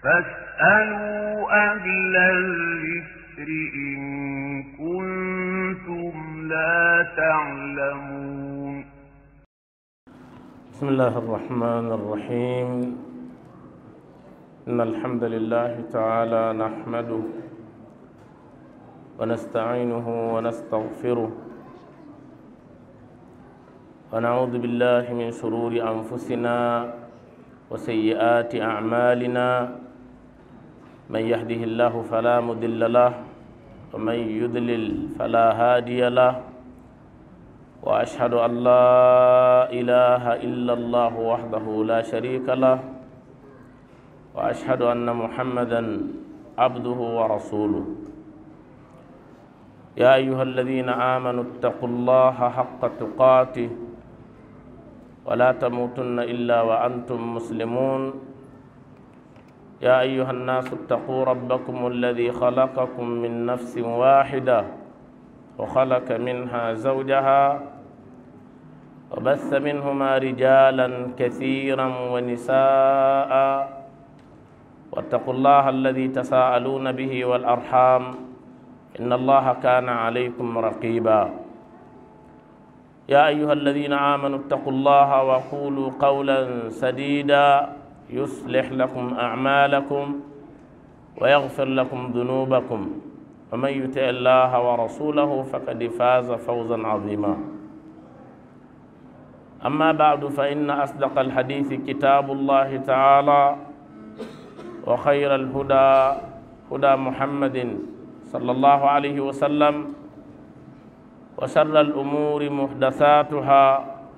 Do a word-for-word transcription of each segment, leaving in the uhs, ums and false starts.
فاسألوا أهل الذكر إن كنتم لا تعلمون. بسم الله الرحمن الرحيم. إن الحمد لله تعالى نحمده ونستعينه ونستغفره، ونعوذ بالله من شرور أنفسنا وسيئات أعمالنا. من يهده الله فلا مضل له، ومن يضلل فلا هادي له. وأشهد أن لا إله إلا الله وحده لا شريك له، وأشهد أن محمدا عبده ورسوله. يا أيها الذين آمنوا اتقوا الله حق تقاته ولا تموتن إلا وأنتم مسلمون. يا أيها الناس اتقوا ربكم الذي خلقكم من نفس واحدة وخلق منها زوجها وبث منهما رجالا كثيرا ونساء واتقوا الله الذي تساءلون به والأرحام إن الله كان عليكم رقيبا. يا أيها الذين آمنوا اتقوا الله وقولوا قولا سديدا يصلح لكم أعمالكم ويغفر لكم ذنوبكم ومن يطع الله ورسوله فقد فاز فوزا عظيما. أما بعد، فإن أصدق الحديث كتاب الله تعالى، وخير الهدى هدى محمد صلى الله عليه وسلم، وشر الأمور محدثاتها،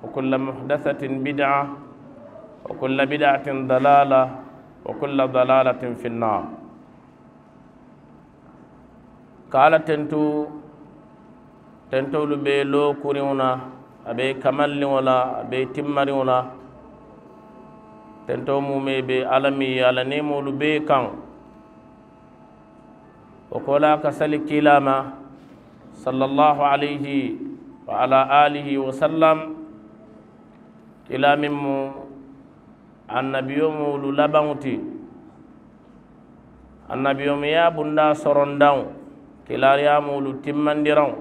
وكل محدثة بدعة، وكل بدعة ضلالة، وكل ضلالة في النار. Ka Alla tentu, tentoolu be lookuriŋo la, a be kamalliŋo la, a be timmariŋo la. Tentoo muumee be Alla miŋ ye a la neemoolu bee kaŋ. Wo koolaa ka sali kiilaa ma, sallallahu alayhi wa ala alihi wa sallam, kiilaa meŋ mu annabiyoomoolu labaŋo ti. Annabiyoomeyaa bundaa sorondaŋo, kiilaariyaamoolu timmandiraŋo.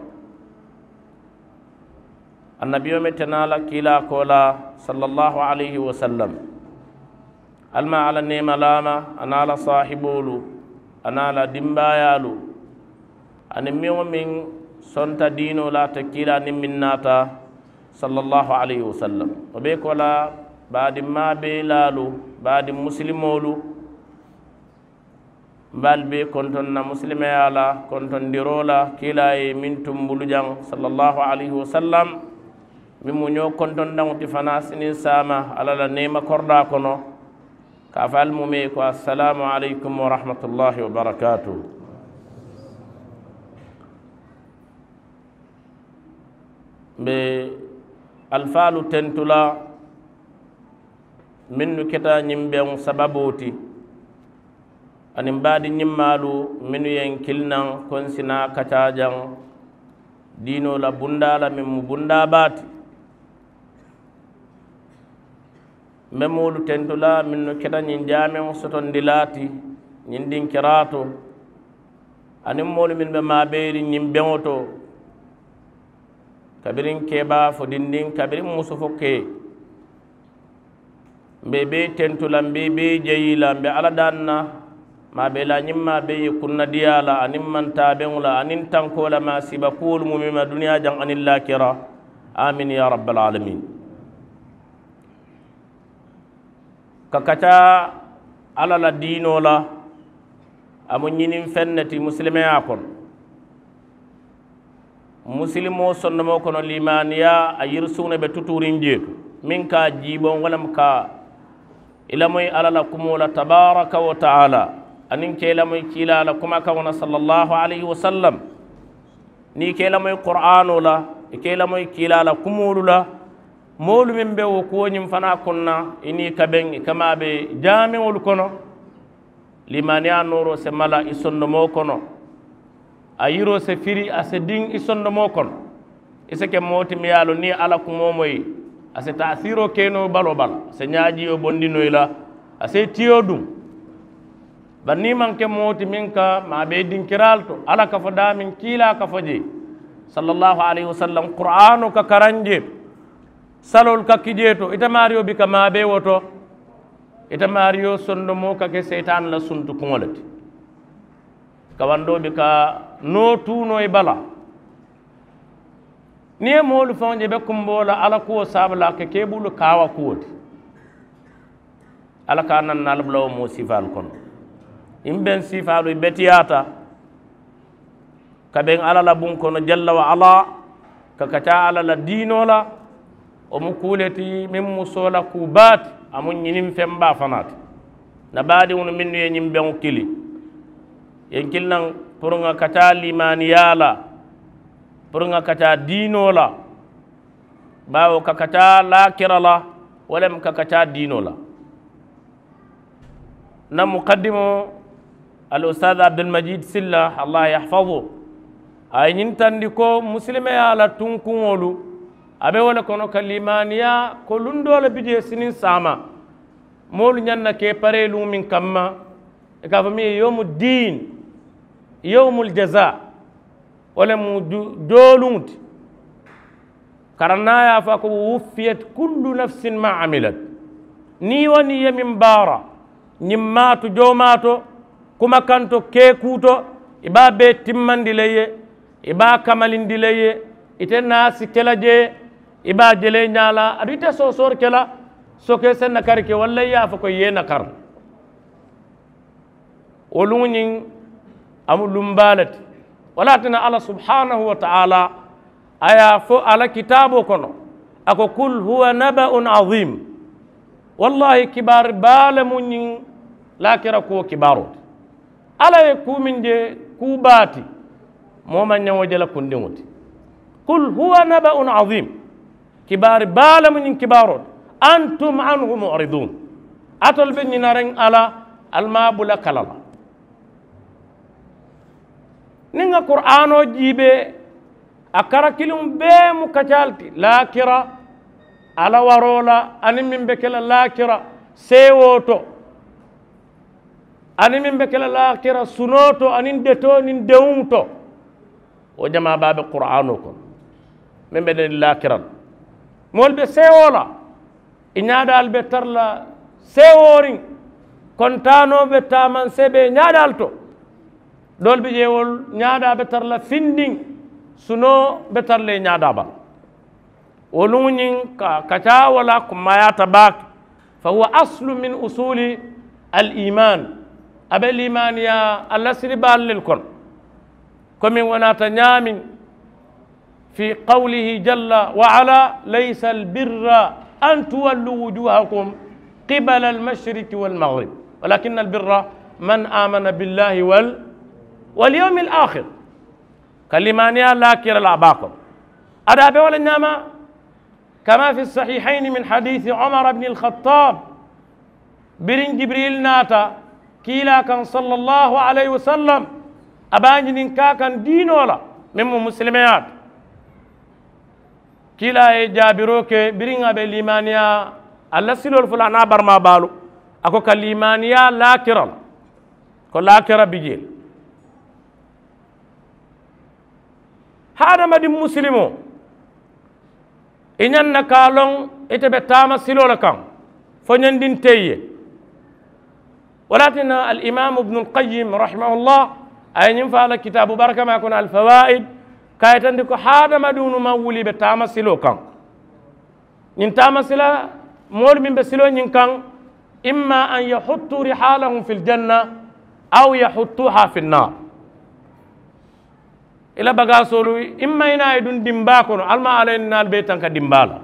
Annabiyoome te naa la kiilaa koolaa, sallallahu alayhi wa sallam. Ali maŋ Alla neema laa ma, a naa la saahiboolu, a naa la dimbaayaalu, aniŋ meŋ wo meŋ sonta diinoo la ate kiilaa niŋ meŋ naata, sallallahu alayhi wa sallam. Wo bee koolaa, baadimmaa bee laalu, baadiŋ musilimoolu, mbe ali bee kontoŋ na musilimeyaa la kontondiroo la, kiilaa ye meŋ tumbulu jaŋ, sallallahu alayhi wa sallam, meŋ mu ñoo kontondaŋo ti fanaa siniŋ saama Alla la neema koridaa kono. Ka a fo ali muumee ko, assalaamu alaykum wa rahmatullahi wa barakaatuhu. Mbe alifaalu tentu la, mennu keta ñiŋ beŋo sababoo ti, aniŋ baadiŋ ñimmaalu mennu ye n kili naŋ ko n si naa kacaa jaŋ diinoo la bundaa la, meŋ mu bundaa baa ti. Mbe moolu tentu la mennu keta ñiŋ jaameŋo sotondilaa ti ñiŋ dinkiraa to, aniŋ moolu mennu be maabeeriŋ ñiŋ beŋo to, kabiriŋ keebaa fo dindiŋ, kabiriŋ musu fo kee. Mbe i bee tentu la, mbe i bee jayi la, mbe Alla daaŋ na, maabeelaa ñiŋ maabeyi kunnadiyaa la, aniŋ mantaabeŋo la, aniŋ tankoo la, maasiiba kuwolu muumee ma duniyaa jaŋ aniŋ laakira. Amiin yaa rabbal aalamiin. Ka kacaa Alla la diinoo la, a mu ñiniŋ feŋ ne ti musilimeyaa kono. Musilimoo sondomoo kono, liimaaniyaa, a yirisuŋo ne be tutuuriŋ jee to, meŋ ka a jiiboŋ, wo le mu ka i lamoyi Alla la kumoo la, tabaaraka wa taala, aniŋ ka i lamoyi kiilaa la kumakaŋo la, sallallahu alayhi wa sallam. Niŋ i ka i lamoyi Quraanoo la, i ka i lamoyi kiilaa la kumoolu la, moolu meŋ be wo kuwo ñiŋ fanaa kono na, i niŋ i ka beŋ, i ka maabe jaameŋolu kono. Liimaaniyaa nooroo si mala i sondomoo kono, a yiroo si firi, a si diŋ i sondomoo kono. I si ke moo ti meŋ ye a loŋ niŋ i ye Alla kumoo moyi, a si taasiiroo ke noo baloo bala, a si ñaajiyo bondi noo i la, a si i tiyo duŋ. Bari niŋ i maŋ ke moo ti meŋ ka maabee dinkiraalu to, alla ka fo daameŋ, kiilaa ka fo jee, sallallaahu alayhi wasallam, quraanoo ka karaŋ jee to, saloolu ka ki jee to, ite maariyo bi ka maabee wo to. Ite maariyo sondomoo ka ke seyitaana la suntukuŋo le ti. Kawandoo bi ka noo tuu noo i bala. Niŋ i ye moolu faŋo je i be kumboo la alla kuwo saabu la a ka ke i bulu kaawa kuwo ti. Alla ka a naŋ na ali bula wo moo siifaalu kono. Ñiŋ beŋ siifaalu i beteyaata ka beŋ alla la buŋ kono jalla wa alla, ka kaccaa alla la diinoo la. Wo mu kuu le ti meŋ mu soola kuu baa ti, a mu ñiniŋ feŋ baa fanaa ti. N na baadiŋolu mennu ye ñiŋ beŋo kili, i ye n kili naŋ puru ŋa kaccaa liimaaniyaa la, puru ŋa kaccaa diinoo la. Baawo ka kaccaa laakira la, wo le mu ka kaccaa diinoo la. N na mukaddimoo, al ustaazu abdulmajid silla, allah yahfazu, a ye ñiŋ tandi ko musilimeyaa la tunkuŋolu, a be wo le kono ka liimaaniyaa ko luŋ doo le bi jee siniŋ saama, moolu ñaŋ na ka i paree luŋ meŋ kamma, i ka a fo meŋ ye yowmu diin, yowmul jazaa. Wo le mu jooluŋo ti. Karaŋ na a ye a fo a ko, wuffiyat kullu nafsin ma amilat. Niŋ i wo niŋ i ye meŋ baara, ñiŋ maatu joomaato, kumakanto keekuu to, i be a bee timmandi le i ye, i be a kamalindi le i ye. Ite naa si ke la jee, i be a je la i ñaa la, aduŋ ite soosoori ke la, sokee se nakari ke walla i ye a fo ko i ye i nakari. Wo luŋo ñiŋ, a mu lumbaa le ti. Wo le ye a tinna alla subhaanahu wa taala, a ye a fo a la kitaaboo kono, a ko kul huwa naba'un aziim. Wallaahi kibaari baa le mu ñiŋ laakira kuwo kibaaroo ti. Alla ye kuu meŋ je, kuu baa ti, moo maŋ ñaŋ wo je la kundiŋo ti. Kul huwa naba'un aziim. Kibaari baa le mu ñiŋ kibaaroo ti. Antum anhu mu'ridun. Atolu be ñinariŋ a la, ali maŋ a bula kala la. Niŋ ŋa kuraanoo jiibee, a kara kiliŋo bee mu kaccaa le ti laakira, alla waroo la aniŋ meŋ be ke la laakira seewoo to, aniŋ meŋ be ke la laakira sunoo to aniŋ detoo niŋ dewuŋo to. Wo jamaa baa be kuraanoo kono meŋ be dani laakira la. Moolu be seewoo la, i ñaadaalu be tara la seewooriŋ. Kontaanoo be taamaŋ seebee ñaadaalu to. Doolu bi jee wolu ñaadaa be tara la findiŋ. Sunoo be tara la i ñaadaa bala. Wo luŋo ñiŋ ka kaccaa wo la kummaayaata baake. Fa huwa aslu min usuli al iman. A be liimaaniyaa a lasili baalu le kono. Komi wo naata ñaameŋ, fi qawlihi jalla wa ala, laysa albirra an tuwallu wujuhakum qibala almashriki walmagrib, walakin albirra man amana billahi wal walyawmi alakhir. Ka liimaaniyaa laakira la a baa kono. Ada a be wo le ñaama. Kama fi sahihayni min hadiisi umar bni alkhattab. Biriŋ jibiril naata kiilaa kaŋ sallallahu alayhi wasallam, a be a ñininkaa kaŋ diinoo la meŋ mu musilimeyaa ti. Kiilaa ye jaabiroo ke biriŋ a be liimaaniyaa a la siloolu fula a naa baramaa baalu, a ko ka liimaaniyaa laakira la, ko laakira bi jee le. Hadamadiŋ musilimoo, i ñaŋ na ka a loŋ ite be taama siloo le kaŋ fo ñandinte i ye. Wo le ye a tinna alimaamu ibnu alqayim rahimahullah, a ye ñiŋ faa la kitaabu barakamaa kono alfawaid, ka a yitandi ko hadamadiŋolu maŋ wuli i be taama siloo kaŋ. Ñiŋ taama sila moolu meŋ be siloo ñiŋ kaŋ, imma an yahuttu rihalahum fi aljanna aw yahuttuha fi annar. I la bagaasoolu, imma i naa ye duŋ dimbaa kono, ali maŋ ala ye naalu bee tanka dimbaa la,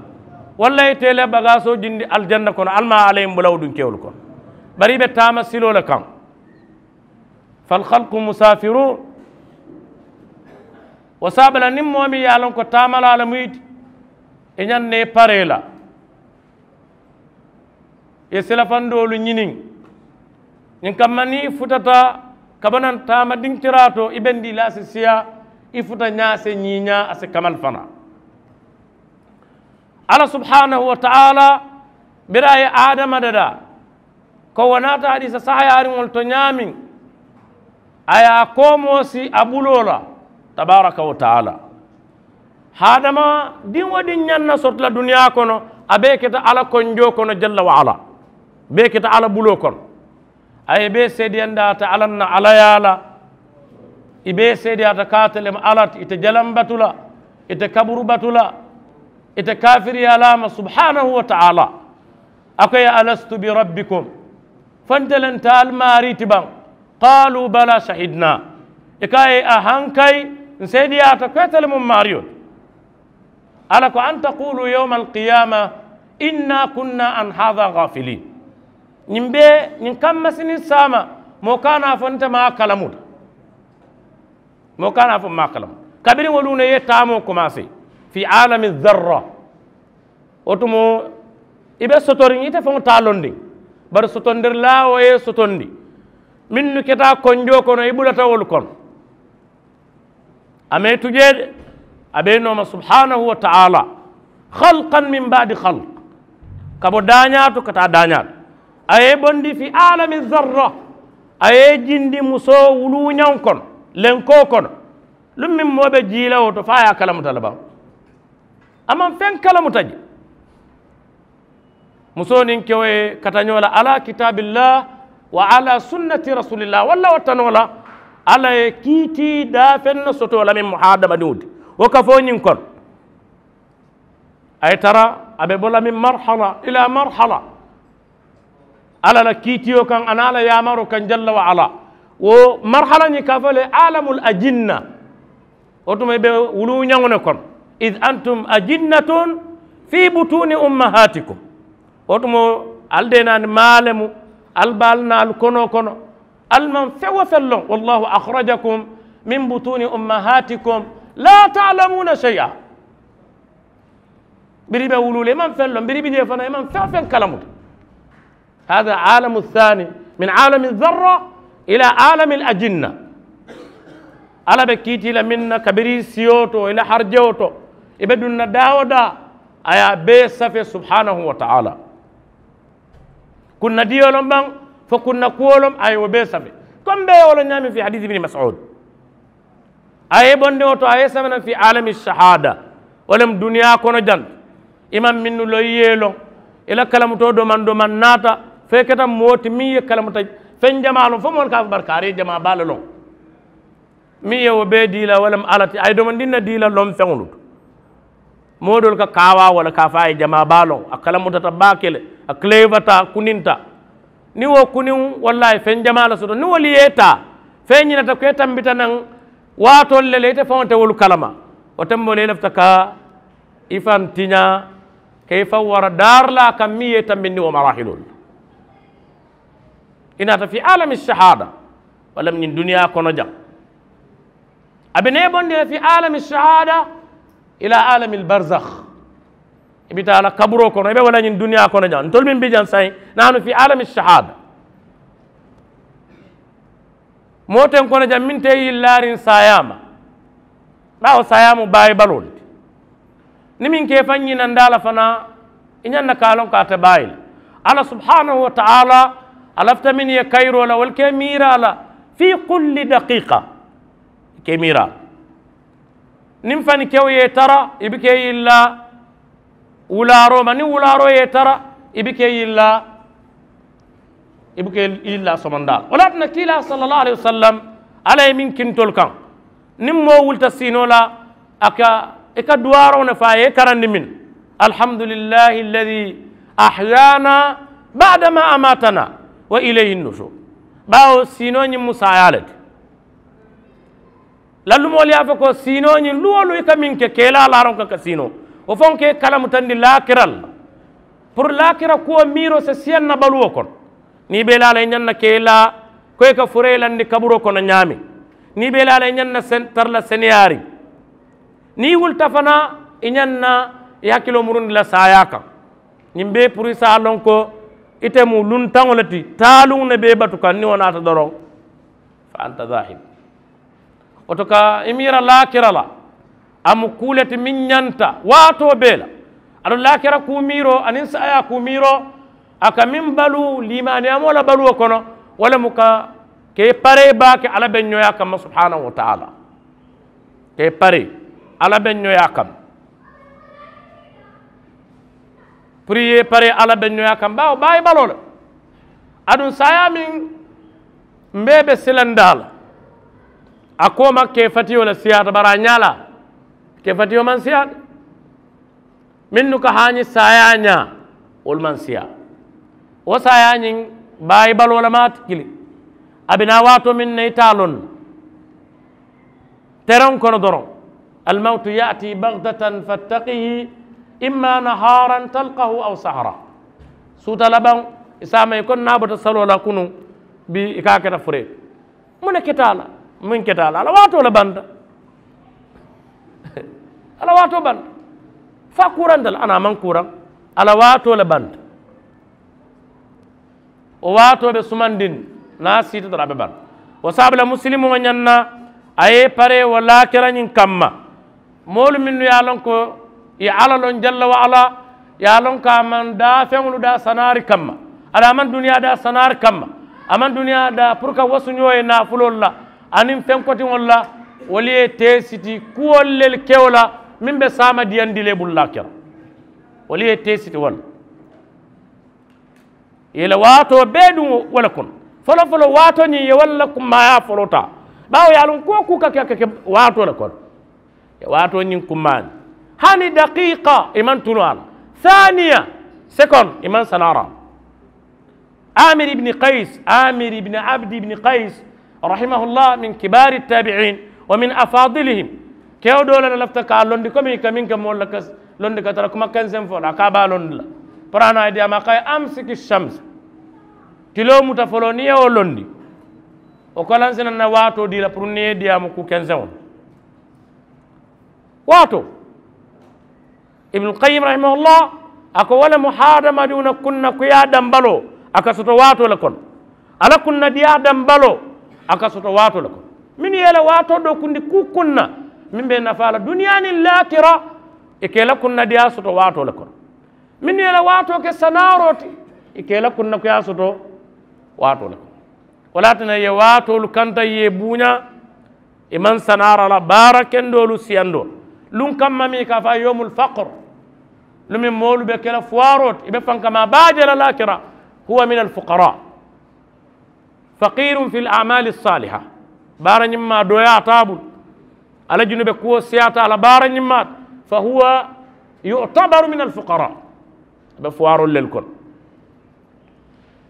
walla i te i la bagaasoo jindi aljanna kono, ali maŋ ala ye bula wo dunkewolu kono. Bari i be taama siloo le kaŋ. Falkhalku musafirun. Wo saaba la niŋ moo meŋ ye a loŋ ko taamalaa le mu i ti, i ñaŋ na i paree la. I ye silafandoolu ñiniŋ. Ñiŋ kamma niŋ i futata ka bo naŋ taama dinkiraa to, i bendii la si siyaa, i futa ñaase ñiiñaa a si kamal fanaa. Alla subhanahu wa taala bira a ye adama dadaa, ko wo naata hadiisa sahayaariŋolu to ñaameŋ, A ye a koomoo si a buloo la tabaaraka wa taala. Haadama diŋ wo diŋ ñaŋ na soto la duniyaa kono, a bee keta alla konjoo kono jalla wa ala. Bee keta alla buloo kono. A ye bee seedeyandi a te alla na alla yaa la. I bee seedeyaata ka ate le mu alla ti. I te jalaŋ batu la, i te kaburu batu la, i te kaafiriyaa la a ma subhaanahu wa taala. A ko ye alastu bi rabbikum, fo nte le nte ali maarii ti baŋ? Qaaluu balaa shahidnaa. I ko a ye a hankayi, n seedeyaata ko ite le mu maariyo ti. Alla ko an takuulu yowma alkiyaama, inna kunna an haada gaafiliin. Ñiŋ bee ñiŋ kamma siniŋ saama, moo ka a naa fo nte maa kalamuta. Moo ka a naa fo maa kalamuta. Kabiriŋ wo luuna i ye taamoo komaasee fii aalami zarra. Wo tumoo i be sotoriŋ ite faŋo taa londiŋ. Bari sotondirilaa wo ye sotondi mennu keta konjoo kono i bulata wolu kono. A mee tujee de. A be i nooma subhaanahu wa taala. Xalkan min baadi xalk. Ka bo daañaa to ka taa daañaa to. A ye i bondi fii aalami zarra. A ye i jindi musoo wuluuñaŋo kono, lenkoo kono. Luŋ meŋ moo be jii la wo to fo a ye a kalamuta le baŋ? A maŋ feŋ kalamuta je. Musoo niŋ kewo ye kata ñoo la ala kitaabillah wa ala sunnati rasulillah walla wo tanoo la. Alla ye kiitii daafeŋ ne soto la meŋ mu hadamadiŋo ti. Wo ka fo ñiŋ kono. A ye tara a be bo la meŋ marhala ila marhala. Alla la kiitiyo kaŋ a niŋ a la yaamaroo kaŋ jalla wa ala. Wo marhala ñiŋ ka fo le alamul ajinna. Wo tuma i be wuluuñaŋo ne kono. Id antum ajinnatun fi butuni ummahatikum. Wo tuma ali de naani maa le mu ali be ali na ali konoo kono. Ali maŋ feŋ wo feŋ loŋ wallahu akhrajakum min butuni ummahatikum la ta'lamuna shay'a. Biri i be wuluu le i maŋ feŋ loŋ biri i bi jee fanaa i maŋ feŋ wo feŋ kalamuta. Hada alamu thani min alami zarra ila alami al ajinna. Alla be kiitii la meŋ na kabiriŋ i siyo to i la harijewo to i be duŋ na daa wo daa. A ye a bee safe subhanahu wa taala. Kunna diyo loŋ baŋ fo kunna kuwo loŋ a ye wo bee safe. Komi be ye wo loŋ ñaameŋ fi hadisi ibni masud. A ye i bondi wo to a ye i saba naŋ fi alami sahada. Wo le mu duniyaa kono jaŋ. I maŋ mennu loŋ i ye i loŋ i la kalamutoo domaŋ domaŋ naata. Fo i keta moo ti meŋ ye kalamuta feŋ jamaa loŋ fo moolu ka a fo bari kaari i ye jamaa baa le loŋ. Meŋ ye wo bee dii la wo le mu alla ti a ye domandiŋ ne dii la loŋ feŋolu to. Moo doolu ka kaawaa wo le ka a fo a ye jamaa baa loŋ a kalamutata baake le. A kileyifata a kuninta. Niŋ wo kuniŋ walla a ye feŋ jamaa le soto niŋ wolu ye i taa fo i ñinata ko i tambita naŋ waatoolu le la ite faŋo te wolu kalama. Wo temboolu i lafita ka i faŋ tiñaa ka i faŋ wara daarilaa kaŋ meŋ ye i tambindi wo maraahiloolu la. I naata fi alami sahada. Walla mu ñiŋ duniyaa kono jaŋ. A be nee bondi le fi alami sahada ila alami albarzakh. I bi taa la kaburoo kono i be walla ñiŋ duniyaa kono jaŋ ntolu meŋ bi jaŋ saayiŋ naanu fi alami sahada. Moo teŋ kono jaŋ meŋ te i yillaariŋ saayaa ma. Baawo saayaa mu baayi baloo le ti. Niŋ meŋ ka i faŋ ñinandaa la fanaa i ñaŋ na ka a loŋ ko a te baayi le. Alla subhanahu wa taala a lafita meŋ ye kayiroo la wolu ka i miiraa la fii kulli daqiiqa. I ka i miiraa la niŋ fani kewo ye i tara i buka i yillaa wulaaroo ma niŋ wulaaroo ye i tara i buka i yillaa. I buka i yillaa somondaa la wo le ye a tinna kiilaa salla allahu alayhi wa sallam alla ye meŋ kintolu kaŋ. Niŋ moo wulita siinoo la a ka i ka duwaaroo ne fo a ye i karandi meŋ. Alhamdulillahi alladi ahyana baada ma amatana wa ilayhi nusur. Baawo siinoo ñiŋ mu saayaa le ti. Lallumoolu ye a fo ko siinoo ñiŋ luwolu i ka meŋ ke keelaa laaroŋ ka ka siinoo wo faŋo ka i kalamutandi laakiral la. Puru laakira kuwo miiroo si siyaŋ na baluwo kono. Niŋ i be i laa la i ñaŋ na keelaa ko i ka furee landi kaburoo kono ñaameŋ. Niŋ i be i laa la i ñaŋ na tara la seneyaariŋ. Niŋ i wulita fanaa i ñaŋ na i hakiloo murundi la saayaa kaŋ. Ñiŋ bee puru i si a loŋ ko ite mu luntaŋo le ti taaluŋ ne be i batu kaŋ niŋ wo naata doroŋ. Fa anta zahib. Wo to ka i miira laakira la a mu kuu le ti meŋ ñanta waatoo bee la. Aduŋ laakira kuu miiroo aniŋ saayaa kuu miiroo a ka meŋ baluu liimaaniyaamoo la baluwo kono wo le mu ka Ka i paree baake alla be ñooyaa kamma subhaanahu wa taala. Ka i paree alla be ñooyaa kamma. Puru i ye paree alla be ñooyaa kamma baawo baayi baloo le. Aduŋ saayaa meŋ mbe be silandaa la a kooma ka i fatiyoo le siyaata bari a ñaa la ka i fatiyoo maŋ siyaata. Mennu ka haañi saayaa ñaa wolu maŋ siyaa. Wo saayaa ñiŋ baayi baloo le maati kili. A be naa waatoo meŋ na i te a loŋ na tereŋ kono doroŋ. Almawtu yaati bagdatan fattaqihi imma nahaaran talkahu aw sahara. Suuta labaŋ i saama i ko naa bota saloo la kunuŋ bi i ka a keta furee. Muŋ ne keta a la? Muŋ keta a la a la waatoo le banta. A la waatoo banta. Fo a kuuranta le a naa maŋ kuuraŋ. A la waatoo le banta. Wo waatoo be sumandiŋ niŋ a siita doroŋ a be banta. Wo saabu la musilimoo ñaŋ na a ye i paree wo laakira ñiŋ kamma. Moolu mennu ye a loŋ ko i ye alla loŋ jalla wa alla ye a loŋ ko a maŋ daa feŋolu daa sanaari kamma. Aduŋ a maŋ duniyaa daa sanaari kamma. A maŋ duniyaa daa puru ka wasuñoo ye naafuloolu la aniŋ feŋ kotiŋolu la. Wolu ye teesiti kuwolu le ke wo la meŋ be saama diyandi le bulu laakira. Wolu ye teesiti wo le. I ye i la waatoo bee duŋ wo le kono. Folofoloo waatoo ñiŋ i ye wo le la kummaayaa foloo taa. Baawo i ye a loŋ kuwo kuu ka ke a ka ke waatoo le kono. I ye waatoo ñiŋ kummaandi hani dakiika i maŋ tunoo a la. Saaniya sekondi i maŋ sanaara a la. Amir ibni kayis amir ibni abdi ibni kayis rahimahullah min kibaari taabiin wa min afaadilihim. Kewo doo le la lafita ka a londi komi i ka meŋ ke moolu la ka londi ka tara kuma kenseŋ fo la a ka a be a londi la. Puru a naa ye diyaama a ka a ye amsiki shamsa. Tiloo muta foloo niŋ i ye wo londi wo kolansi naŋ na waatoo dii la puru niŋ i ye diyaamu kuu kenseŋo. Waatoo ibnul kayim rahimahullah a ko wo le mu haadamadiŋo na kunna kuyaa dambaloo a ka soto waatoo le kono. A la kunnadiyaa dambaloo a ka soto waatoo le kono. Mennu ye i la waatoo dookundi kuu kunna meŋ be i nafaa la duniyaa niŋ laakira i ka i la kunnadiyaa soto waatoo le kono. Mennu ye i la waatoo ke sanaaroo ti i ka i la kunnakuyaa soto waatoo le kono. Wo le ye a tinna i ye waatoolu kanta i ye i buuñaa. I maŋ sanaara la baara kendoolu siyandoo luŋ kamma meŋ i ka a fo a ye yoomul fakr. Lumiŋ moolu be ke la fuwaaroo ti i be fankamaa baa je la laakira. Huwa min alfukaraa. Fakiirun fi l amaali saaliha. Baara ñimmaa dooyaa taabul a la junube kuwo siyaata a la baara ñimmaa ti. Fa huwa yutabaru min alfukaraa. A be fuwaaroolu lelu kono.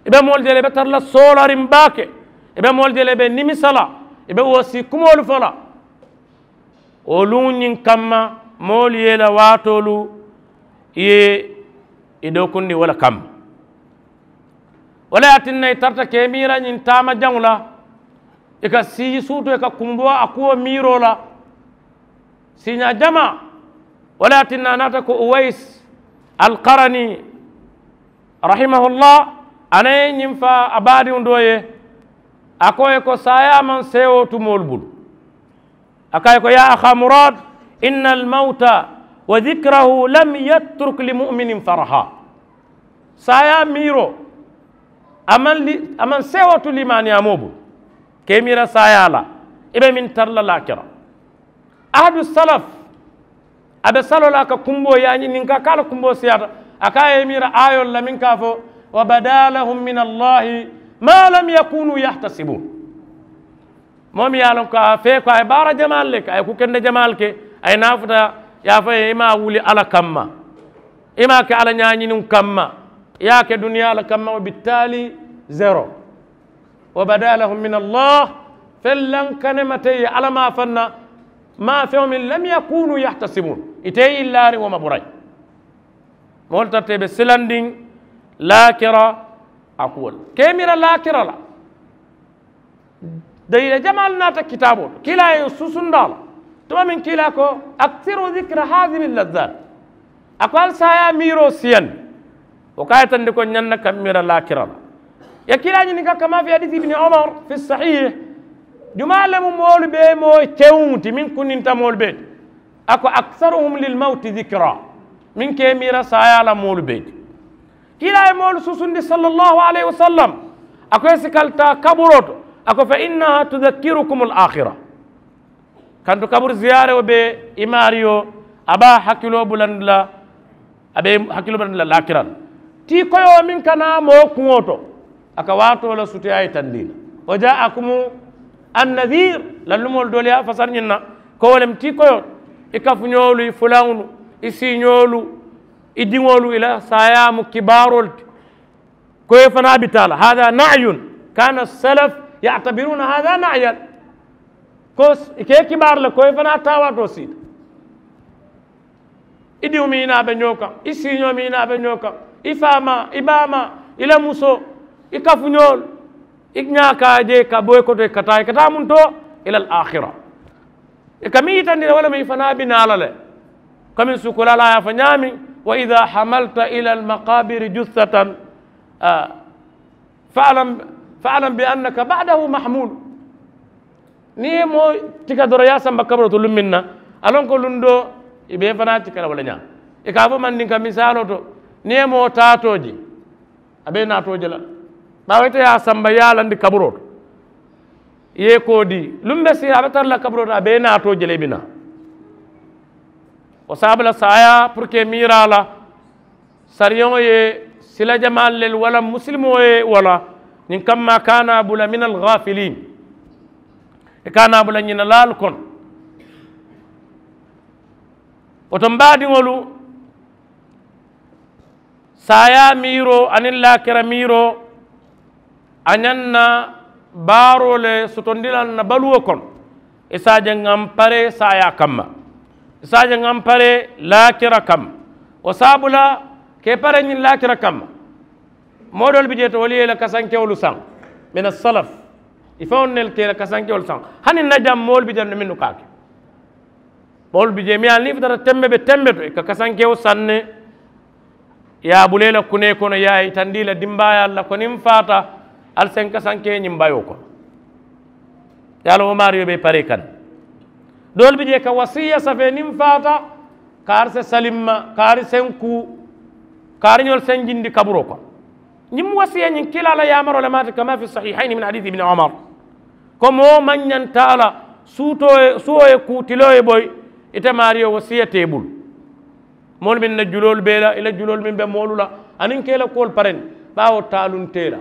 I be moolu je la i be tara la soolariŋ baake. I be moolu je la i be nimisa la. I be woosii kumoolu fo la. Wo luŋ ñiŋ kamma moolu ye i la waatoolu i ye i dookundi wo le kamma. Wo le ye a tinna i tarata ka i miira ñiŋ taama jaŋo la. I ka sii suutoo i ka kumboo a kuwo miiroo la. Siiñaa jamaa. Wo le ye a tinna a naata ko uwayis alkarani rahimahullah. A naŋ ye ñiŋ faa a baadiŋo doo ye a ko ye ko saayaa maŋ seewoo tu moolu bulu. A ko a ye ko yaa ahaa muraad, inna almawta wa dikirahu lam yatturuk limuminin faraha. Saayaa miiroo a maŋ seewoo tu liimaaniyaamoo bulu. Ka i miira saayaa la i be meŋ tara la laakira. Ahadu salaf a be saloo la a ka kumboo yaañi niŋ ka ka a la kumboo siyaata. A ka a ye i miira aayoolu la meŋ ka a fo, wa badaa lahum min allahi ma lam yakunuu yahtasibuun. Moo meŋ ye a loŋ ko a fee ko a ye baara jamaalu le ke a ye kuu kende jamaalu ke a ye naafuta. Ye a fo ye i maŋ a wuli alla kamma. I maŋ a ke alla ñaañiniŋo kamma. I ye a ke duniyaa le kamma wo bittaali zero. Wa badaa lahum min allah. Fellaŋ kanemata i ye alla maafanna. Maa feŋo meŋ lam yakunuu yahtasibuun. Ite ye i laariŋ wo ma burayi. Moolu tarata i be silandiŋ laakira a kuwo le ka i miira laakira la. Daliila jamaalu naata kitaaboo to kiilaa ye suusundi a la. Tuma meŋ kiilaa ko aksiru dikira haadihi llazzaat. A ko ali saayaa miiroo siyandi. Wo ka a yitandi ko ñaŋ na ka miira laakira la. Ye kiilaa ñininka kama fi hadiisi ibni omar fi sahiih. Jumaa le mu moolu bee moo kewuŋo ti meŋ kundinta moolu bee ti. A ko aksaruhum lilmawti dikira. Meŋ ka i miira saayaa la moolu bee ti. Kiilaa ye moolu susundi sallallahu alayhi wasallam. A ko i si kali taa kaburoo to. A ko fa innaha tudakkirukum al akhira. Kantu kaburu ziyaaroo be i maariyo a be a hakiloo bulandi la. A be i hakiloo bulandi la laakira la tii koyoo meŋ ka naa moo kuŋo to. A ka waatoo la sutuyaa yitandi i la. Wa jaakumu annadiir. Lallumoolu doolu ye a fasari ñiŋ na ko wo le mu tii koyoo. I kafuñoolu i fulaŋolu i siiñoolu i diŋolu i la saayaa mu kibaaroo le ti. Ko i fanaa bi taa la hada naayun. Kaana salaf yatabiruuna hada naayan. Ko i ke i kibaari la ko i fanaa taawaatoo siita. I diŋo meŋ i naa be ñoo kaŋ i siiñoo meŋ i naa be ñoo kaŋ i faamaa i baamaa i la musoo i kafuñoolu i ñaakaa je ka bo i koto i ka taa i ka taa muntoo ila al akhira. I ka meŋ yitandi la wo le mu i fanaa bi naa la le. Komin sukulaa la a ye a fo ñaameŋ wa ida hamalta ila al maqabiri jussatan. Faalam faalam bi annaka badahu mahmulu. Niŋ i ye moo tika doroŋ i ye a samba kaburoo to luŋ meŋ na a loŋ ko luŋ doo i be i fanaa tika la wo le ñaa. I ka a fo mandinka misaaloo to niŋ i ye moo taatoo je a be i naatoo je la. Baawo ite ye a samba i ye a landi kaburoo to i ye i koo dii luŋ be sii a be tara la kaburoo to a be i naatoo je la i bi naa. Wo saabu la saayaa puru ka i miiraa la sariyoŋo ye sila jamaalu le walla musilimoo ye walla ñiŋ kamma kaana bula min alghafilin. I kaana bula ñinalaalu kono. Wo to mbaadiŋolu saayaa miiroo aniŋ laakira miiroo a ñaŋ na baaroo le sotondi la n na baluwo kono. I se a je ŋa m paree saayaa kamma. I se a je ŋa m paree laakira kamma. Wo saabu la ka i paree ñiŋ laakira kamma. Moo doolu bi jee to wolu ye i la kasankewolu saŋ mina salaf. I faŋolu ne ka i la kasankewolu saŋ hani n na jaŋ moolu bi jaŋ ne mennu ka a ke. Moolu bi jee miŋ ye a niŋ i futata tembe be tembe to i ka kasankewo saŋ ne. I ye a bula i la kunee kono i ye a yitandi i la dimbaayaalu la ko niŋ n faata ali se n kasankee ñiŋ bayoo kono. I ye a loŋ wo maariyo be i paree kaŋ ne. Doolu bi jee ka wasiya safee niŋ n faata kaari se saliŋ ma kaari se n kuu kaari ñolu se n jindi kaburoo kono. Ñiŋ wasiya ñiŋ kiilaa la yaamaroo le maati kama fi sahihayni min hadiisi ibni omar. Ko moo maŋ ñanta a la suutoo ye suwoo ye kuu tiloo ye boyi. Ite maariyo wasiya te i bulu. Moolu meŋ na juloolu be i la i la juloolu meŋ be moolu la aniŋ ka i la kuwolu parendi. Baawo taaluŋ te i la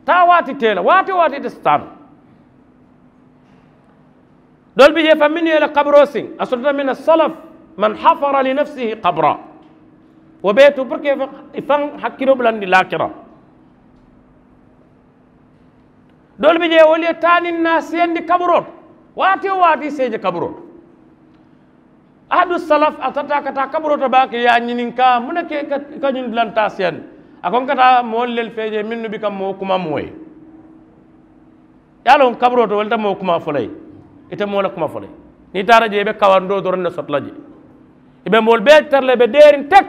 taawaati te i la waati waati ite si taa noo. Doolu bi jee faŋ mennu ye i la kaburoo siŋ a sotota meŋ na salaf man hafara li nafsihi kabura. Wo bee tu puru ka i faŋ hakkiloo bulandi laakira. Doolu bi jee wolu ye taa niŋ naa siyandi kaburoo to waati wo waati i si i je kaburoo to. Ahadu salaf a tata ka taa kaburoo to baake i ye a ñininkaa muŋ ne ke i ka ñiŋ dulantaa siyandi. A ko n ka taa moolu lelu fee jee mennu bi ka moo kuma moo ye. I ye a loŋ kaburoo to wolu te moo kuma fo la i ye. I te moo la kuma fo la i ye niŋ i taata jee i be kawandoo doroŋ ne soto la jee. I be moolu bee tara la i be deeriŋ tek.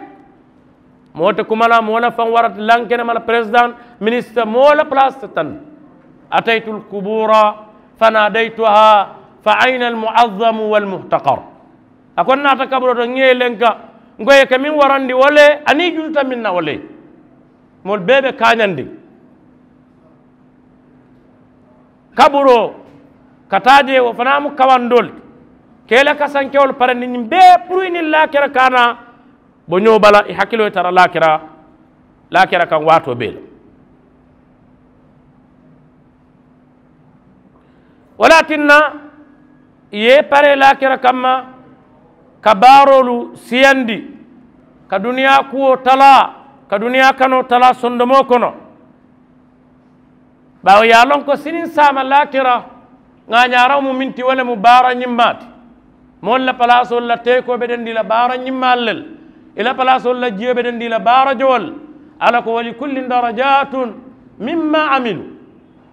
Moo te kuma la moo la faŋ warata lankenema la peresidaŋ minisita moo la palaasi te taŋ. Ataytu alkubura fanadaytuha fa ayna almuazzamu walmuhtakar. A ko n naata kaburoo to n ŋa i lenka n ko i ye ke meŋ warandi wo le aniŋ i jututa meŋ na wo le. Moolu bee be kaañandi kaburoo ka taa jee wo fanaa mu kawandoo le. Ka i la kasankewolu parendi ñiŋ bee puru i niŋ laakira ka a naa. Bo ñoo bala i hakiloo ye tara laakira laakira kaŋ waatoo bee la. Wo le ye a tinna i ye i paree laakira kamma ka baaroolu siyandi ka duniyaa kuwo talaa ka duniyaa kanoo talaa sondomoo kono. Baawo i ye a loŋ ko siniŋ saama laakira ŋaañaaraŋo mu meŋ ti wo le mu baara ñimmaa ti. Moolu la palaasoolu la teekoo be dendii la baara ñimmaalu le la i la palaasoolu la jiyoo be dendii la baara jowolu le. Alla ko wali kullin darajatun mimma amilu.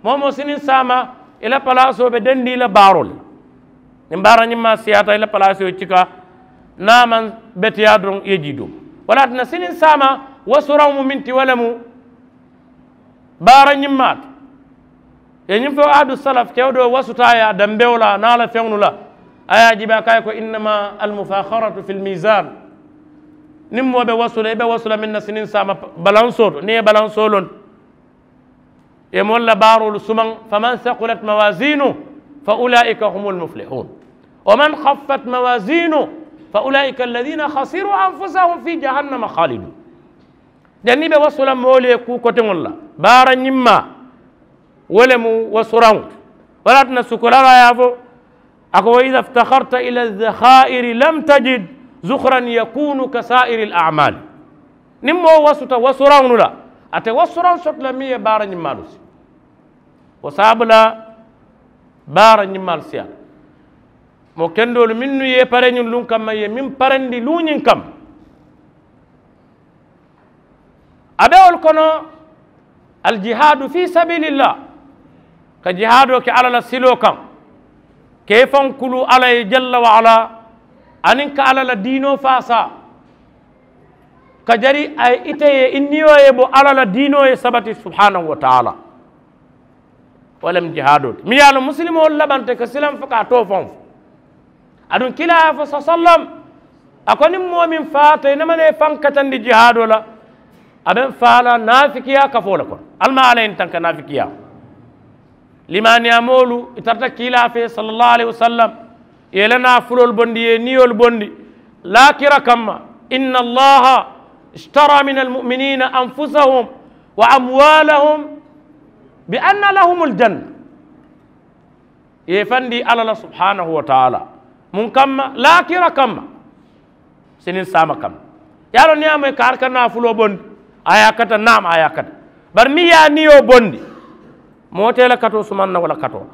Moo moo siniŋ saama i la palaasoo be dendii la baaroo le la. Niŋ baara ñimmaa siyaata i la palaasoo ye cika niŋ a maŋ beteyaa doroŋ i ye jii doo. Wo le ye a tinna siniŋ saama wasuraŋo mu meŋ ti wo le mu baara ñimmaa ti. Ye ñiŋ fo ahadu salaf kewo doo wasuta a ye a dambewo la niŋ a la feŋolu la. A ye a jiibe a ka a ye ko innama almufaharatu fi lmisan. Niŋ moo be wasu la i be wasu la meŋ na siniŋ saama balansoo to niŋ i ye balansoo loŋ Ye moolu la baaroolu sumaŋ. Faman saqulat mawazinu fa ulaika humul muflihun. Waman xaffat mawazinu fa ulaika alladina xasiru anfusahum fi jahannama xalidun. Janni be wasula moolu ye kuu koteŋolu la baara ñimmaa. Wo le mu wasuraŋo. Wala tuna sukulala ye a fo a ko wa ida iftakarta ila zahairi lam tajid zuhran yakunu ka sairi al amali. Niŋ moo wasuta wasuraŋolu la ate wasuraŋ soto la miŋ ye baara ñimmaalu si. Wo saabula baara ñimmaalu siyaata. Moo kendoolu mennu ye pareñiŋ luŋ kamma ye meŋ parendi luuñiŋ kamma. A be wolu kono aljihadu fi sabilillah. Ka jihaadoo ke alla la siloo kaŋ. Ka i faŋ kulu alla ye jalla wa ala. Aniŋ ka alla la diinoo faasaa. Ka jari a ye ite ye i niyo ye bo alla la diinoo ye sabati subhanahu wa taala. Wo le mu jihaadoo ti miŋ ye a loŋ musilimoolu labanta ka silaŋ fo ka a too faŋo fo. Aduŋ kiilaa ye a fo sa sallam. A ko niŋ moo meŋ faata i namana i faŋ katandi jihaadoo la. A be n faa la naafikiyaa kafoo le kono. Ali maŋ alla ye n tanka naafikiyaa. Limaaniyaa moolu i tarata kiilaa fee sallallahu alayhi wasallam. Ye i la naafuloolu bondi ye i niyoolu bondi laakira kamma. Inna allaha ishtara min almuminina anfusahum wa amwalahum bi anna lahum aljanna. Ye i fandi alla la subhanahu wa taala. Muŋ kamma laakira kamma. Siniŋ saama kamma. Ye a loŋ niŋ ye a moyi ka ali ka naafuloo bondi a ye a kata naama a ye a kata. Bari meŋ ye a niyo bondi moo te i la katoo sumaŋ na wo la katoo la.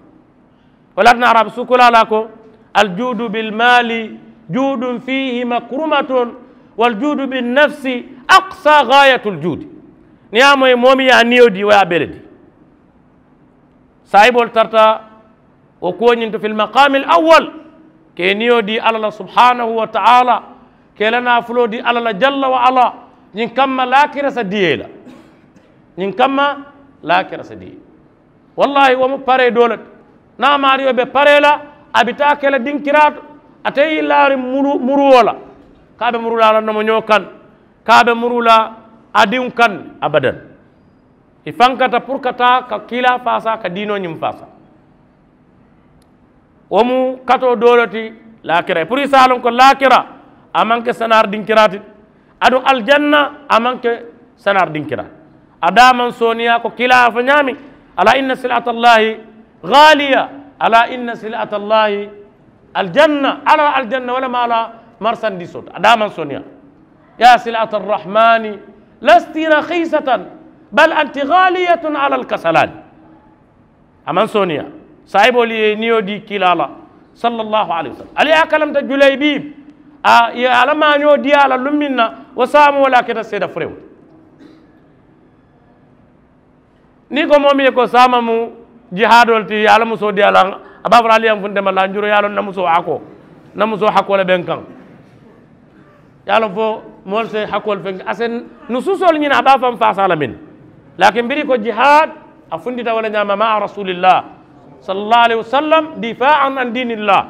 Wo le ye a tinna arabu sukulaa la a ko aljuudu bilmaali juudun fiihi makrumatun. Waljuudu binnafsi aksa gaayatul juudi. Niŋ ye a moyi moo meŋ ye a niyo dii wo ye a bee le dii. Saayiboolu tarata wo kuwo ñiŋ to fil maqaamil awwal. Ka i niyo dii alla la subhanahu wa taala. Ka i la naafuloo dii alla la jalla wa ala. Ñiŋ kamma laakira sa diyee la. Ñiŋ kamma laakira sa diyee. Wallaahi wo mu paree doo le ti. Niŋ a maariyo be paree la a bi taa ke la dinkiraa to. Ate ye i laariŋ muruwo la ka a be muru la a la nomoñoo kaŋ. Ka a be muru la a diŋo kaŋ. Abadan. I fankata puru ka taa ka kiilaa faasaa ka diinoo ñiŋ faasaa. Wo mu katoo doo le ti laakira ye puru i si a loŋ ko laakira a maŋ ke sanaari dinkiraa ti. Aduŋ aljanna a maŋ ke sanaari dinkiraa ti. A daa maŋ sooneeyaa ko kiilaa ye a fo ñaameŋ. Alaa inna silaata allahi gaaliya. Alaa inna silaata allahi aljanna alla la aljanna wo le mu a la. Marisandiisoo ti a daa maŋ sooneeyaa. Ya silaata arrahmani lasti rakhiisatan bal anti gaaliyatun ala alkasalaani. A maŋ sooneeyaa. Saayiboolu ye i niyo dii kiilaa la sallallahu alayhi wasallam ali ye a kalamta julaybiib. A ye a la maañoo dii a la luŋ meŋ na wo saamoo le a keta seeda furewo. Niŋ i ko moo meŋ ye ko saama mu jihaadoo le ti ye a la musoo dii a la a be a fo la ali ye a funte ma lanjuroo ye a loŋ na musoo hakoo. Na musoo hakoo le be n kaŋ. Ye a loŋ fo moolu se hakoolu feŋ a se nusuusoolu ñini a be a faŋ faasaa la meŋ. Laakin biri ko jihaad a funtita wo le ñaama maa rasulillah sallallahu alayhi wasallam difaan an diinillah.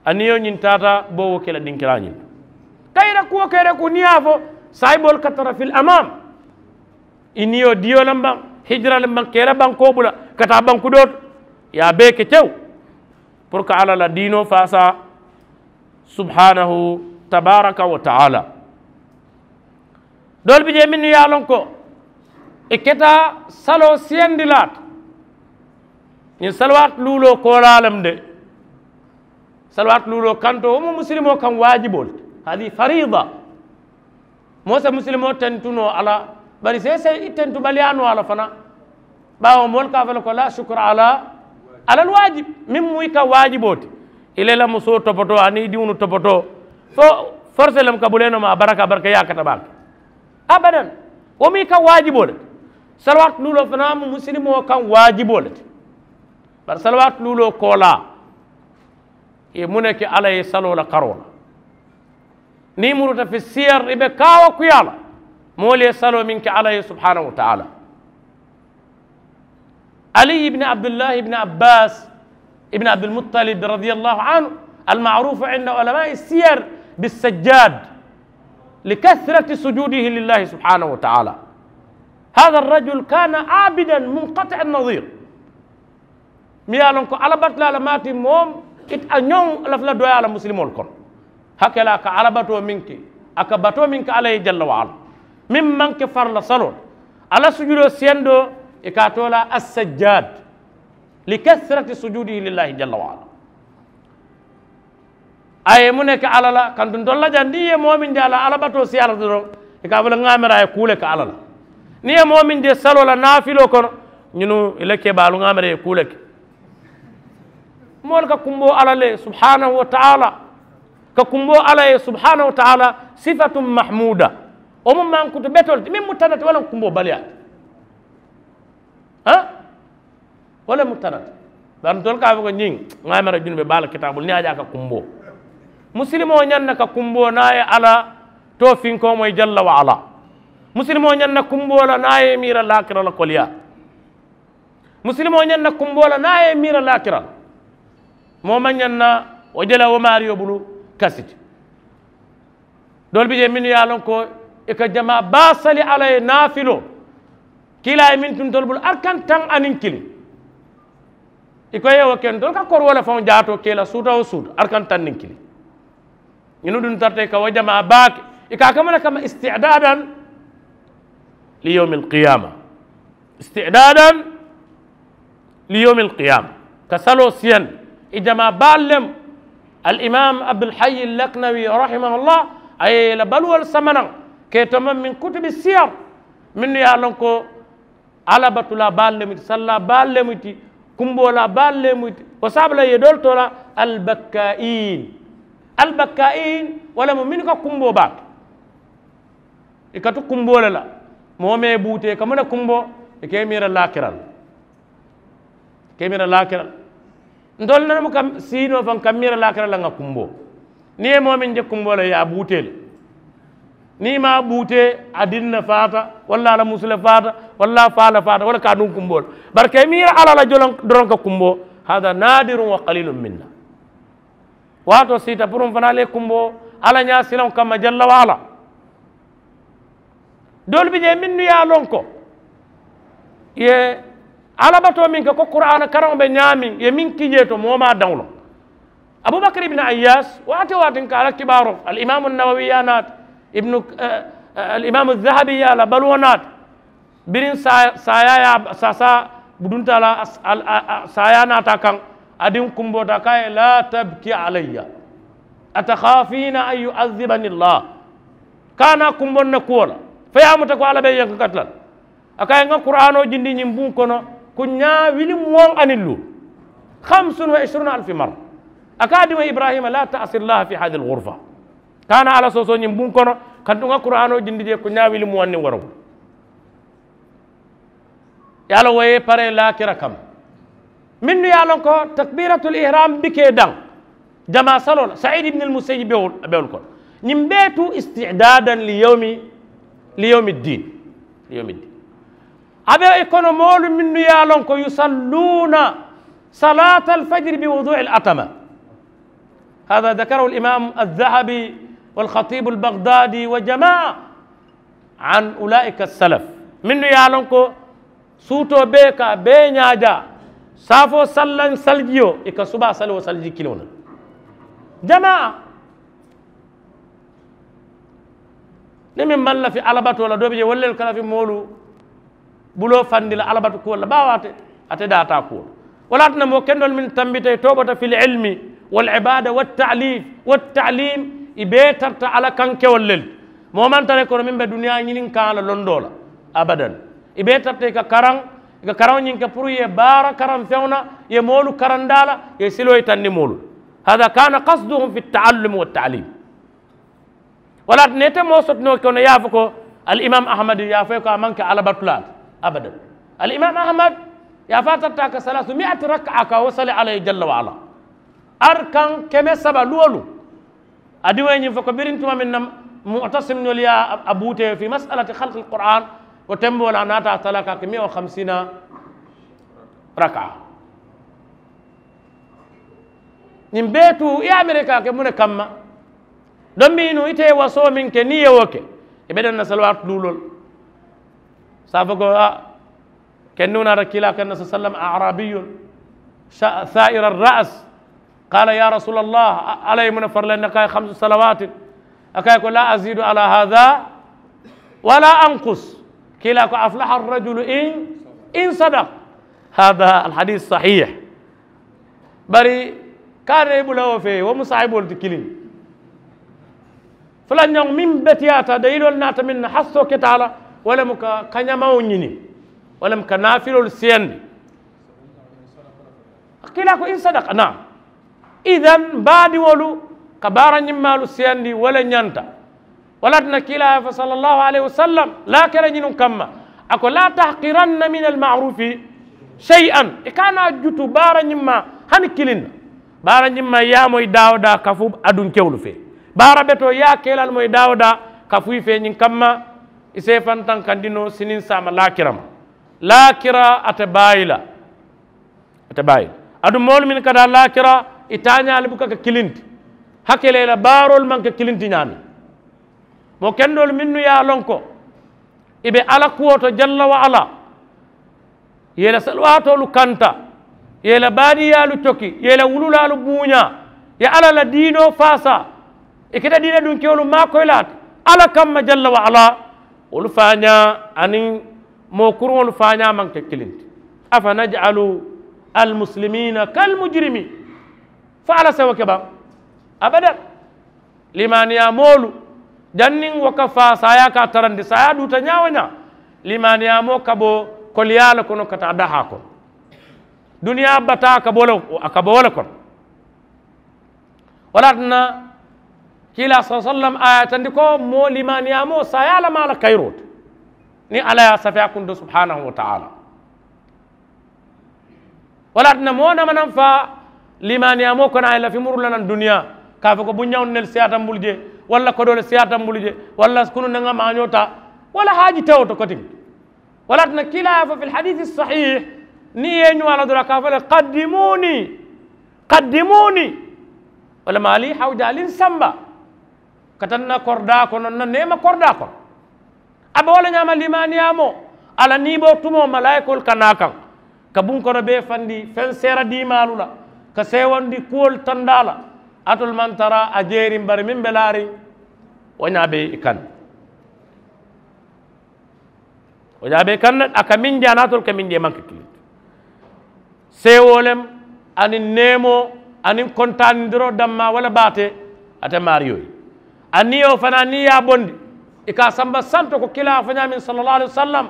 A niyo ñiŋ taata boo wo ke la dinkiraa ñiŋ. Kayira kuwo kayira ku niŋ ye a fo saayiboolu ka tara fil amaam. I niyo diyo le mbaŋ hijira le mbaŋ kayira bankoo bula ka taa banku doo to. Ye a bee ke tew puru ka alla la diinoo faasaa. Subhanahu tabaraka wa taala. Doolu bi jee mennu ye a loŋ ko i keta saloo siyandi laata. Ñiŋ salawaati luuloo koolaa lemu de. Salawaati luuloo kantoo wo mu musilimoo kaŋ waajiboo le ti. Hadihi fariida. Moo si musilimoo tentu noo a la bari seesee i tentubaliyaa noo a la fanaa. Baawo moolu ka a fo le ko la sukura ala alal waajib. Meŋ mu i ka waajiboo ti i le la musoo topotoo aniŋ i diŋolu topotoo fo forse lemu ka bulee nooma a baraka baraka yaakata baake. Abadan. Wo mu i ka waajiboo le ti. Salawaati luuloo fanaa mu musilimoo kaŋ waajiboo le ti. Bari salawaati luuloo koolaa i ye muŋ ne ke alla ye saloo la karoo la. Niŋ i muruta fi siyar i be kaawa kuyaa la. Moolu ye saloo meŋ ke alla ye subhanahu wa taala. Ali ibni abdullahi ibni abbas ibni abdulmuttalib radiyallahu anhu almarufu inda ulamai siyar bisajjad. Likasrati sujudihi lillahi subhanahu wa taala. Hada arrajul kana abidan munkati annadir. Mi ye a loŋ ko alabatulaa le maati moom ite a ñoŋ lafula doyaa la musilimoolu kono. Hakela a ka alabatoo meŋ ke a ka batoo meŋ ke alla ye jalla wa ala meŋ maŋ ke farila saloo la. Alla sujudoo siyandoo i ka a too la assajjad li kasrati sujudihi lillahi jalla wa ala. A ye muŋ ne ke alla la kantuntolu la jaŋ niŋ i ye moo meŋ je a la alabatoo siyaata doroŋ i ka a fo le ŋaamera a ye kuu le ke alla la. Niŋ i ye moo meŋ je saloo la naafiloo kono ñunu i la kebaalu ŋaamera i ye kuu le ke. Moolu ka kumboo alla le subhanahu wa taala. Ka kumboo alla ye subhanahu wa taala sifatun mahmuda. Wo mu mankutu betolu ti meŋ mu tanati walla kumboo baliyaa ti. Wo le mu tara ti. Bari ntolu ka a fo ko ñiŋ ŋa a mara junube baa la kitaabulu niŋ a je a ka kumboo. Musilimoo ñaŋ na ka kumboo niŋ a ye alla toofinkoo moyi jalla wa ala. Musilimoo ñaŋ na kumboo la niŋ a ye i miira laakira la koliyaa. Musilimoo ñaŋ na kumboo la niŋ a ye i miira laakira la. Moo maŋ ñaŋ na wo je la wo maariyo bulu kasi ti. Doolu bi jee mennu ye a loŋ ko i ka jamaa baa sali alla ye naafiloo. Kiilaa ye meŋ tu ntolu bulu arkan taŋ aniŋ kiliŋ. I ko i ye wo ke ntolu ka kori wo le faŋo jaatoo ke i la suuta wo suuta arkan taŋ niŋ kiliŋ. Ñinu duŋ tarata i ka wo jamaa baa ke i ka a kamana kamma istidadan li yowmi alqiyama. Istidadan li yowmi alqiyama. Ka saloo siyandi i jamaa baalu lemu. Alimam abdulhayi laknawi rahimahullah a ye i la baluwolu samanaŋ ka i tomaŋ min kutubi siyar. Mennu ye a loŋ ko alabatulaa baalu lemu iti sallaa baalu lemu iti kumboolaa baalu lemu iti. Wo saabu la i ye doolu too la albakkayin. Albakkayin wo lemu mennu ka kumboo baa ke. I ka tu kumboo le la. Moo mee buutee ka mu ne kumboo i ka i miira laakira la. I ka i miira laakira la. Ntolu nene mu ka siinoo faŋ ka miira laakira la ŋa kumboo. Niŋ i ye moo meŋ je kumboo la i ye a buutee le. Niŋ i maŋ a buutee a diŋ ne faata walla a la musu le faata walla a faa le faata wo le ka a duŋ kumboo la. Bari ka i miira alla la joloŋ doroŋ ka kumboo. Hada nadirun wa qalilun minna. Waatoo siita puru n fanaa le kumboo alla ñaasilaŋo kamma jalla waala. Doolu bi jee mennu ye a loŋ ko i ye alabatoo meŋ ke ko kuraana karaŋo be ñaameŋ i ye meŋ ki jee to moo maŋ a daŋ loŋ. Abubakar ibini ayyas waati waati n ka a la kibaaroo alimaamu nawawi ye a naati ibnu alimaamu zahabi ye a la baluwo naati. Biriŋ saayaa ye a saasaa budunta a la saayaa naata a kaŋ. A diŋ kumboota a ko a ye laa tabki alayya. Atakhafina an yu'adhibani allah. Kaana kumboŋ na kuwo la fo ye a muta ko alla be yanka katila la. A ko a ye ŋa kuraanoo jindi ñiŋ buŋ kono kuñaa wili muwaŋ aniŋ luu. Khamsun wa ishruna alfi marra. A ko a diŋo ibrahima laa ta'si allah fi hadihi alghurfa. Kaana alla soosoo ñiŋ buŋ kono kantu ŋa kuraanoo jindi jee kuñaa wili muwaŋ niŋ warawu. Ye a loŋ wo ye paree laakira kamma. Mennu ye a loŋ ko takbiratul ihram bi ke daŋ jamaa saloo la said ibni almusayib be wolu kono. Ñiŋ bee tu istidadan li yowmi li yowmi ddin. Li yowmi ddin. A be i kono moolu mennu ye a loŋ ko yusalluuna salata alfajiri bi wudui alatama. Hada dakarahu alimam alzahabi walkhatibu albagdadi wa jamaa. An ulaika salaf mennu ye a loŋ ko suutoo bee ka a bee ñaajaa. Saafoo sallaŋ salijiyo i ka subaa sali wo salijii kiliŋo la. Jamaa niŋ meŋ maŋ lafi alabatoo la doo bi je wolu le ka lafi moolu buloo fandi la alabatu kuwolu la baawo ate ate daataa kuwo. Wo le ye a tinna moo kendoolu mennu tambita i toobota fi lilmi walibada wattaalif wattaalim i bee tarata alla kaŋ kewolu le le. Moo maŋ tara i kono meŋ be duniyaa ñininkaŋ a la londoo la abadan. I bee tarata i ka karaŋ i ka karaŋo ñiŋ ke puru i ye baara karaŋ feŋo na i ye moolu karandaa la i ye siloo yitandi moolu. Hada kana kasduhum fi taallumi wattaalim. Wala ate ne ite moo sotinoo kono i ye a fo ko alimam ahmad i ye a fo i ko a maŋ ke alabatulaa ti. Abadan. Alimam ahmad i ye a fo a tarata a ka salaasu miati raka a ka wo sali alla ye jalla wa ala. Arkaŋ keme saba luwolu. A diŋo ye ñiŋ fo ko biriŋ tuma meŋ na mu'tasimnoolu ye a buutee fi masalati halki alquran. Wo temboo la a naata a talaa ka a ke miya wo hamsiina. Raka. Ñiŋ bee tu i ye a mere ka a ke muŋ ne kamma? Dombiinu ite ye wasoo meŋ ke niŋ i ye wo ke i be daŋ na saliwaati luuloo le. Saafo ko a kennu naata kiila kanna sa sallam arabiyun sa'ira ras. Qala ya rasulallah, ala ye muna farla naka ye hamsu salawatin? Aka ye ko la azidu ala hada wala anqus. Kiila ko aflaha arrajulu in in sadaq. Hada alhadis sahih. Bari kaana i bula wo fee wo mu saahibolu ti kiliŋ. Fulanjaŋo meŋ betiyaata daliiloolu naata meŋ na hassoo keta a la, wo le mu ka kañamaŋo ñini, wo le mu ka naafiloolu siyandi. Kiila ko in sadaka naam. Idan baadiŋolu ka baara ñimmaalu siyandi wo le ñanta. Wala ti na kiila ye fo sallallahu alayhi wasallam laakira ñinuŋ kamma, a ko la tahqiranna min almarufi shay'an. I kana jutu baara ñimma hani kilinna. Baara ñimma ya moy daawo daa kafu adunkewlu fe. Baara beto ya kelal moy daawo daa kafu fe ñin kamma. I se fantan kandino sinin sama laakira ma. Laakira ate bayila. Ate bayila. Adu moolu min kada laakira i tañali buka ka kilinti. Hakele la baarol man ka kilinti ñami. Mo kendol minnu ya lonko i be ala kuwo to jalla wa ala. Ye la salwaatolu kanta, ye la baadiyaalu coki, ye la wululaalu buuñaa, ye alla la diinoo faasaa. I keta diina dunkewolu maakoyilaa ti alla kamma jalla wa ala. Wolu faañaa aniŋ moo kuruŋolu faañaa maŋ ke kiliŋ ti. Afa naj'alu almuslimina kalmujrimin? Fo alla sewo ke baŋ? Abadan. Limaaniyaa moolu janniŋ wo ka faa saayaa ka a tarandi saayaa duuta ñaa-wo-ñaa. Limaaniyaa moo ka bo koliyaa le kono ka taa dahaa kono. Duniyaa bataa ka bo le a ka bo wo le kono. Wo le ye a tinna kiilaa sala sallam a ye a yitandi ko moo limaaniyaa moo saayaa le maa la kayiroo ti. Niŋ alla ye a safee a kunto subhanahu wa taala. Wo le ye a tinna moo nama naŋ faa limaaniyaa moo kono a ye lafi muru la naŋ duniyaa ka a fo ko bunñaŋo nelu siyaata mbulu je, walla kodoo le siyaata mbulu je, walla kunu ne ŋa maañoo taa, walla haaji tewo to kotiŋ. Wo le ye a tinna kiilaa ye a fo fil hadiisi sahih, niŋ i ye i ñoo a la doroŋ a ka a fo le kaddimuni, kaddimuni. Walla maali hawja ali n samba ka tanna koridaa kono n na neema koridaa kono. A be wo le ñaama limaaniyaa moo a la niiboo tumoo malaayikoolu ka naa kaŋ ka buŋ kono bee fandi feŋ seera diimaalu la ka seewandi kuwolu tandaa la. Alitolu maŋ tara a jeeriŋ bari meŋ be laariŋ wo ñaa be i kaŋ. Wo ñaa be i kaŋ ne a ka meŋ je a naatolu ka meŋ je maŋ ka kiliŋ ti. Seewoo lem aniŋ neemoo aniŋ kontaanindiroo dammaa wo le baate. Ate maariyo ye a niyo fanaa niŋ i ye a bondi i ka a samba santo ko kilaa a fo ñaameŋ sala llahu alayhi wa sallam.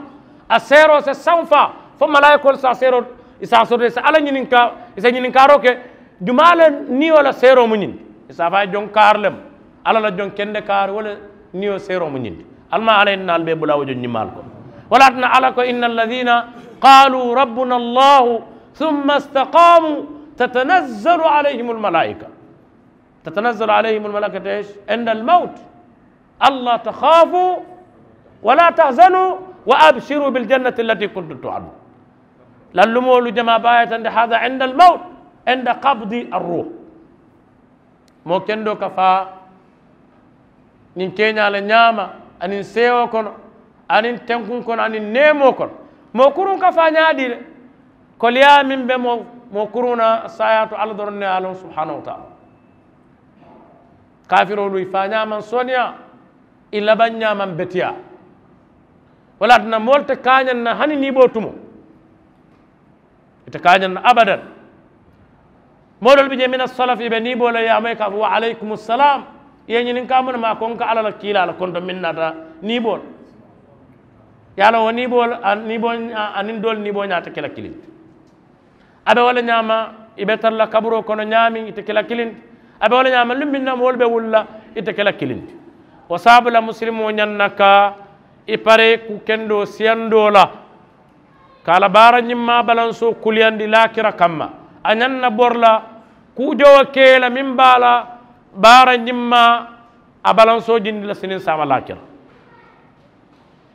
A seeroo se saŋ faa fo malaayikoolu se a seeroo i se a soto i se alla ñininkaa i se ñininkaaroo ke. Jumaa le niyo la seeroo mu ñiŋ ti? I se a fo a ye joŋ kaari lem alla la joŋ kende kaari wo le niyo seeroo mu ñiŋ ti. Almaa alla ye nnaalu bee bula wo joŋ ñimaalu kono. Wo le ye a tinna alla ko inna alladina qaaluu rabbuna allahu summa istaqaamu tatanazzalu alayhim almalaika. Tatanazzalu alayhim almalaikatu inda almawt. Alla takhaafu wala tahzanu wa abshiru biljannati allati kuntum tuadun. Lallumoolu jamaa baayatande hada inda almawt inda qabdi arruh. Moo kendoo ka faa ñiŋ keeñaa le ñaama aniŋ seewoo kono aniŋ tenkuŋ kono aniŋ neemoo kono. Moo kuruŋ ka faa ñaadii le koliyaa meŋ be moo kuruŋ na saayaa to alla doroŋ ne ye a loŋ subhanahu wa taala. Kaafiroolu i faa ñaamaŋ sooneyaa i labaŋ ñaamaŋ betiyaa. Wo le ye a tinna moolu te kaañaŋ na hani niiboo tumoo. Ite kaañaŋ na abadan. Moo doolu bi jee mina salaf i be niiboo la yaamoyi ka a fo wa alaykumu salam. I ye ñininkaa muna maa ko n ka alla la kiilaa la konto meŋ naata niiboo la. Ye a loŋ wo niiboo la niiboo aniŋ doolu niiboo ñaata ke la kiliŋ ti. A be wo le ñaama i be tara la kaburoo kono ñaameŋ ite ke la kiliŋ ti. A be wo le ñaama luŋ meŋ na moolu be wuli la ite ke la kiliŋ ti. Wo saabu la musilimoo ñaŋ na ka i paree ku kendoo siyandoo la ka a la baara ñimmaa balansoo kuliyandi laakira kamma. A ñaŋ na bori la kuu jowo ke la meŋ be a la baara ñimmaa a balansoo jindi la siniŋ saama laakira.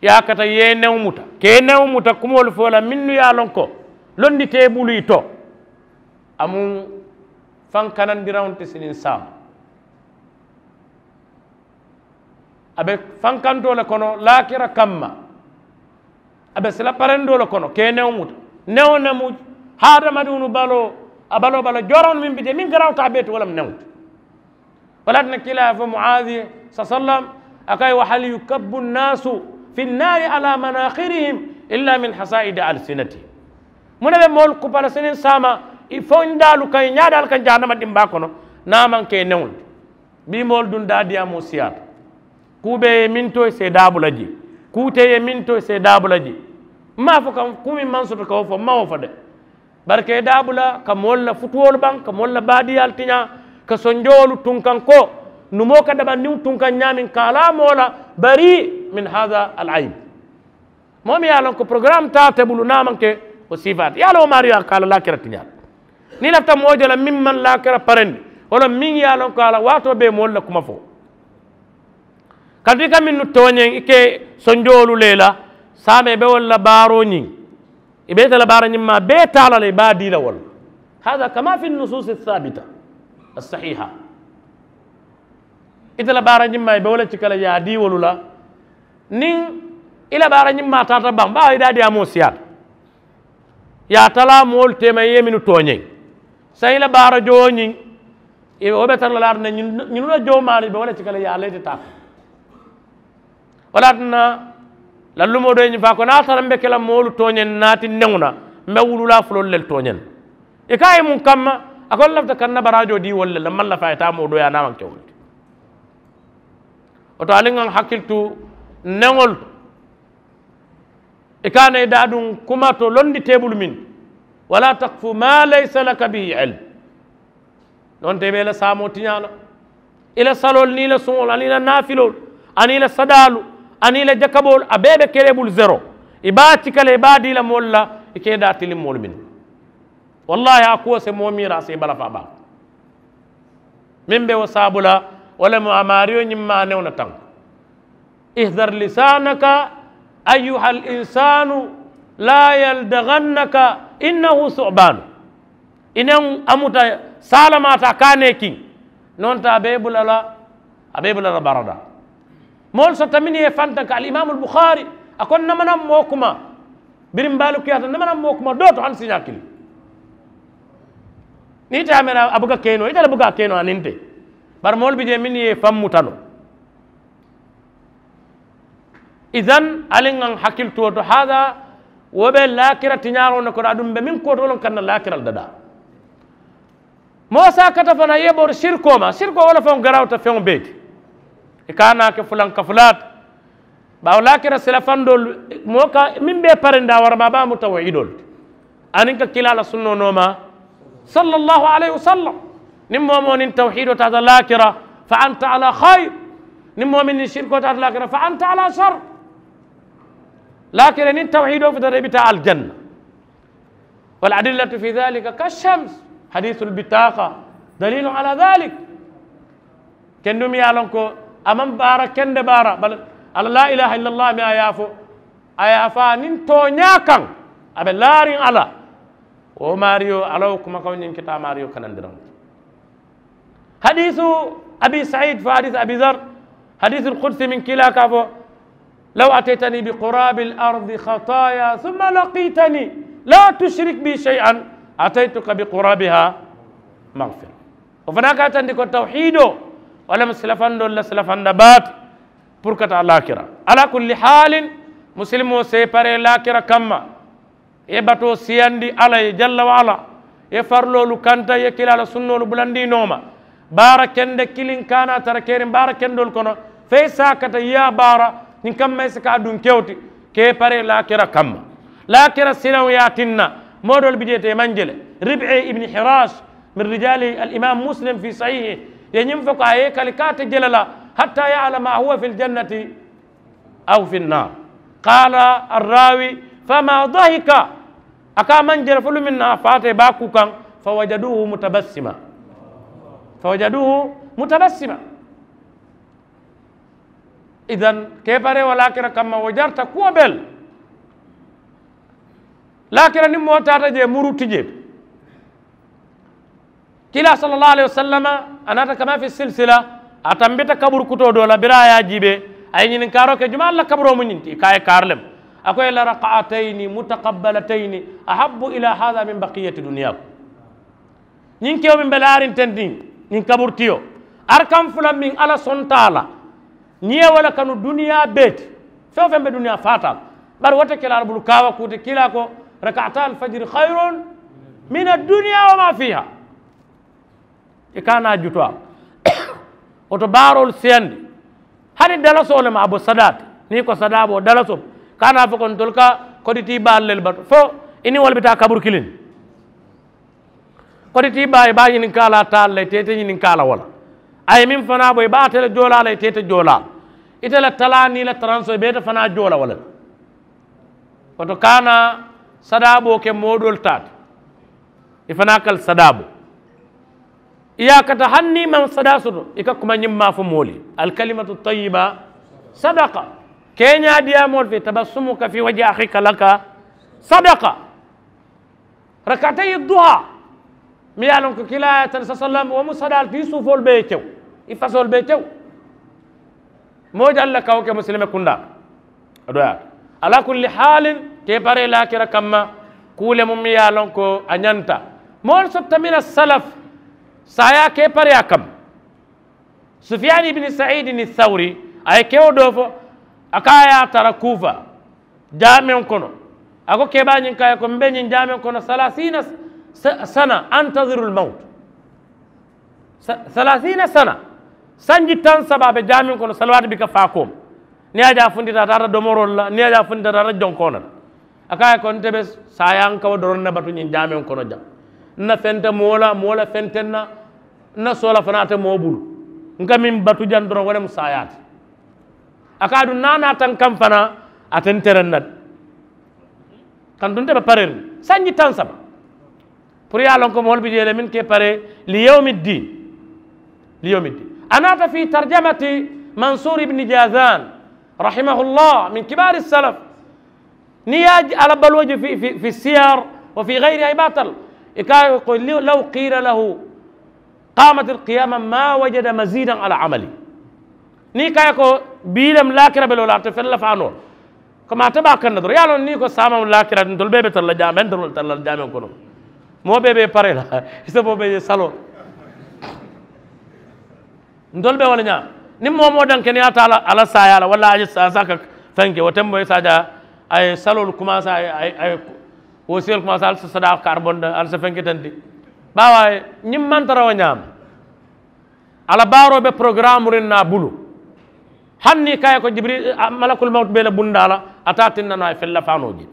Ye a kata ye newo muta ke newo muta kumoolu fo la mennu ye a loŋ ko londi te i bulu i to. A mu fankanandiraŋo ti siniŋ saama. A be fankantoo le kono laakira kamma. A be sila parendoo le kono ka i newo muta. Newo ne mu hadamadiŋolu baloo, a baloo bala jooroŋolu meŋ bi jee meŋ garawta a bee ti wo le mu newo ti. Wo le ye a tinna kiilaa ye a fo muaadi, sallam, a ko a ye wa hal yukabbu nnaasu fi nnaari ala manaaxirihim illa min hasaa'idi alsinatihim. Muŋ ne be moolu kupa la siniŋ saama i fondaalu kaŋ i ñaadaalu kaŋ jahannama dimbaa kono? Niŋ a maŋ ke i newo le ti. Bii moolu duŋ daadiyaamoo siyaata. Kuu bee ye meŋ to i si i daa bula jee. Kuu te ye meŋ to i si i daa bula jee. M maŋ a fo ka kuu meŋ maŋ soto ka wo fo m maŋ wo fo de. Bari ka i daa bula ka moolu la futuwolu baŋ ka moolu la baadiyaalu tiñaa, ka sonjoolu tunkaŋ ko numoo ka dabandiŋo tunkaŋ ñaameŋ ka a laa moo la bari min haada al ayib. Moo meŋ ye a loŋ ko porogaraamu taa ate bulu niŋ a maŋ ke wo siifaata ye a loŋ wo maariyo a ka a la laakira tiñaa le. Niŋ i lafita moo je la meŋ maŋ laakira parendi, wo loŋ meŋ ye a loŋ ko a la waatoo bee moolu la kuma fo. Kaatu i ka mennu tooñeŋ i ke sonjoolu le la, saamoo i be wolu la baaroo ñiŋ, i be ite la baara ñiŋ maa bee taa la le i be a dii la wo le la. Haada kama fi nnusuusi assaabita assahiiha. Ite la baara ñiŋ maa i be wo le cika la i ye a dii wolu la. Niŋ i la baara ñiŋ maa taata baŋ baa i daadiyaamoo siyaata. I ye a talaa moolu teema i ye mennu tooñeŋ, saayiŋ i la baara jowoo ñiŋ, wo be tara la laata ne ñinu la jowo maari be wo le cika la i ye a la ite taa. Wo le ye a tinna lallumoo doo ye ñiŋ faa ko niŋ a tara m be ke la moolu tooñeŋ naati neŋo na, m be wululaa fuloolu le tooñeŋ. I ko a ye muŋ kamma? A ko n lafita ka n na baraajoo dii wolu le la m maŋ lafi a ye taa moo doo ye a niŋ a maŋ ke wolu ti. Wo to ali ŋa n hakkili tu neŋolu to. I ka a na i daaduŋ kuma to londi teebulu meŋ ti, wala takfu ma laysa laka bihi ilm. Nonte i be i la saamoo tiñaa la, i la saloolu niŋ i la suŋolu aniŋ i la naafiloolu aniŋ i la sadaalu aniŋ i la jakaboolu a bee be kere i bulu zero. I be a cika la i be a dii la moolu la i ka i daa tiliŋ moolu minnu. Wallaahi a kuwo si moo miira a si i bala faa baa. Meŋ be wo saabu la wo le mu a maariyo ñiŋ maanewo na taŋ. Ihdar lisaanaka ayyuhal insaanu laa yaldagannaka innahu su'baanu. I neŋ a muta saalamaata a ka a nee kiŋ. Nonta a be i bula la a be i bula la barada. Moolu sotta mennu ye i fantaŋ ka alimaamu albuxaari a ko n namanaŋ moo kuma. Biriŋ baalu kiyaata n namanaŋ moo kuma doo to hani siiñaa kiliŋ. Niŋ ite ye a mera a buka keenoo ite le buka a keenoo aniŋ te. Bari moolu bi jee mennu ye i faŋ muta noo. Idan ali ŋa n hakkili tuwo to haada wo be laakira tiñaaroo ne kono aduŋ be meŋ kootoo loŋ ka n na laakira le dadaa. Moo si a kata fanaa i ye bori sirikoo ma sirikoo wo le faŋo garawuta feŋo bee ti. I ka a naa ke fulaŋ ka fulaata. Baawo laakira silafandoolu moo ka meŋ be i parindaa wara maa baa mu tawhiidoolu ti. Aniŋ ka kiilaa la sunnoo nooma, sallallaahu alayhi wasallam. Niŋ moo moo niŋ tawhiidoo taata laakira, fa anta ala khayr. Niŋ moo meŋ niŋ sirikoo taata laakira fa anta ala shar. Laakira niŋ tawhiidoo futata i bi taa aljanna. Wal adillatu fi daalika ka shams. Hadiisul bitaaqa daliilun ala daalik. Kendu mi ye a loŋ ko a maŋ baara kende baara bari a la laa ilaaha illa allah mi a ye a fo a ye a fo a niŋ tooñaa kaŋ. A be laariŋ a la wo maariyo a la wo kumakaŋo ñiŋ kita maariyo kanandiraŋo ti. Hadiisu abi said fo hadiisu abi dar. Hadiisu alkudsi meŋ kiilaa ka a fo, law ataytani bi quraabi alardi khataaya summa laqiitani laa tushrik bi shay'an ataytuka bi quraabiha maghfira. Wo fanaa ka a yitandi ko tawhiidoo wo le mu silafandoolu la silafanda baa ti. Puru ka taa laakira ala kulli haalin, musilimoo si i paree laakira kamma. I ye batoo siyandi alla ye jalla wa alla. I ye fariloolu kanta i ye kiilaa la sunnoolu bulandi i nooma. Baara kende kiliŋ kaana a tara keriŋ baara kendoolu kono. Fo i si a kata i ye a baara ñiŋ kamma i si ka a duŋ kewo ti. Ka i paree laakira kamma. Laakira silaŋo ye a tinna moo doolu bi jee te i maŋ je le. Ribi ibni hiraas min rijaali alimaamu muslim fi sahiihi ye ñiŋ fo ko a ye i kali ka a te je le la. Hatta yaalama a huwa fi aljannati aw fi nnaar. Qaala arraawi fama dahika. A ka a maŋ je le fo lumiŋ na a faata i be a kuu kaŋ. Fa wajaduuhu mutabassima. Fa wajaduuhu mutabassima. Idan ka i paree wo laakira kamma wo jarata kuwo bee le. Laakira niŋ moo taata jee muru ti jee. Kiilaa sallallaahu alayhi wasallama a naata kama fi silsila. A tambita kaburu kutoo doo la biriŋ a ye a jiibee a ye ñininkaaroo ke jumaa alla kaburoo mu ñiŋ ti i ka a ye kaari le mu. A ko i la raka'atayni mutakabbalatayni ahabbu ila hada min baqiyati duniyakum. Ñiŋ kewo meŋ be laariŋ teŋ niŋ ñiŋ kaburitiyo, arkaŋ fula meŋ alla sonta a la, ñiŋ ye wo le kanu duniyaa bee ti. Feŋ-feŋ be duniyaa faata la, bari wo te kila alla bulu kaawa kuu ti kiilaa ko, raka'ata alfajiri khayrun min adduniya wa ma fiha. I ka naa jutu a. Wo to baaroolu siyandi, hani dalasoo le ma a bo sadaa ti. Niŋ i ko sadaa bo dalasoo, ka naa fo ko ntolu ka koditii baalu le batu fo i niŋ wolu bi taa kaburu kiliŋ. Koditii baa i be a ñininkaa la a taa la i te i te ñininkaa la wo la. A ye meŋ fanaa bo i be a te le joolaa la i te i te joolaa la. Ite la talaa niŋ i la taransoo i be ite fanaa joola wo le la. Wo to ka a naa sadaaboo ke moo doolu taa ti. I fanaa ka le sadaaboo. I ye a kata hani niŋ i maŋ sadaa soto i ka kuma ñiŋ maa fo moolu ye, alkalimatu tayiba sadaka. Keeñaa diyaamoolu fee tabassumuka fi waji axiika laka sadaka. Rakatayi duha, miŋ ye a loŋ ko kiilaa ye a tara sasallam wo mu sadaa le ti i suufoolu bee ye kew, i fasoolu bee ye kew. Moo jaŋ le ka wo ke musilime kundaa. A doyaata. Ala kulli haalin, ke paree laakira kamma, kuu le mu miŋ ye a loŋ ko a ñanta. Moolu sotta mina salaf saayaa ke pareyaa kamma. Sufiyani ibini saidini sawri, a ye kewo doo fo. A ko a ye a tara kuufa jaameŋo kono. A ko kebaa ñiŋ ko a ye ko mbe ñiŋ jaameŋo kono salasina sana antazirul mawtu. Salasina sana, sanji taŋ saba a be jaameŋo kono salawaati bi ka faa kooma. Niŋ a je a funtita a taata domoroolu la niŋ a je a funtita a taata jonkoona la. A ko a ye ko nte be saayaŋ ka wo doroŋ ne batu ñiŋ jaameŋo kono jaŋ. N na feŋ te moo la moo la feŋ te n na. N na soola fanaa te moo bulu. N ka meŋ batu jaŋ doroŋ wo le mu saayaa ti. A ka a duŋ naanaa taŋ kaŋ fanaa, ate ntereŋ na de. Kantu nte be pareeriŋ sanji taŋ saba. Puru ye a loŋ ko moolu bi jee le meŋ ka i paree liyawmi ddin. Liyawmi ddin. A naata fii tarjamati mansuur ibni jazan, rahimahullah min kibaari salaf. Niŋ i ye a je a la baluwo je fi siyar wa fi gayri a ye baatal. I ka a ye ko law qiila lahu qaamati alqiyaama maa wajada maziidan ala amali. Niŋ i ka a ye ko bii lemu laakira be loo la a te feŋ lafaa noo la. Komi ate be a kaŋ na doroŋ i ye a loŋ niŋ i ko saama mu laakira ti ntolu bee be tara la jaameŋ ntolu tara la jaameŋ kono. Moo bee be i paree la i se moo bee ye saloo. Ntolu be wo le ñaama. Niŋ moo-wo-moo daŋ ke niŋ ye a taa a la saayaa la walla a ye saasaa ka feŋ ke wo tembo i se a je a ye saloolu kumaasa a ye a ye wo siyolu kumaasa ali si sadaa kaari bondi ali si feŋ ke tenti. Baawo a ye ñiŋ maŋ tara wo ñaama. A la baaroo be porogaraamuuriŋ na a bulu. Hani niŋ i ka a ye ko jibiri malakul mawutu be i la bundaa la. A te a tinna noo a ye feŋ lafaa noo jee.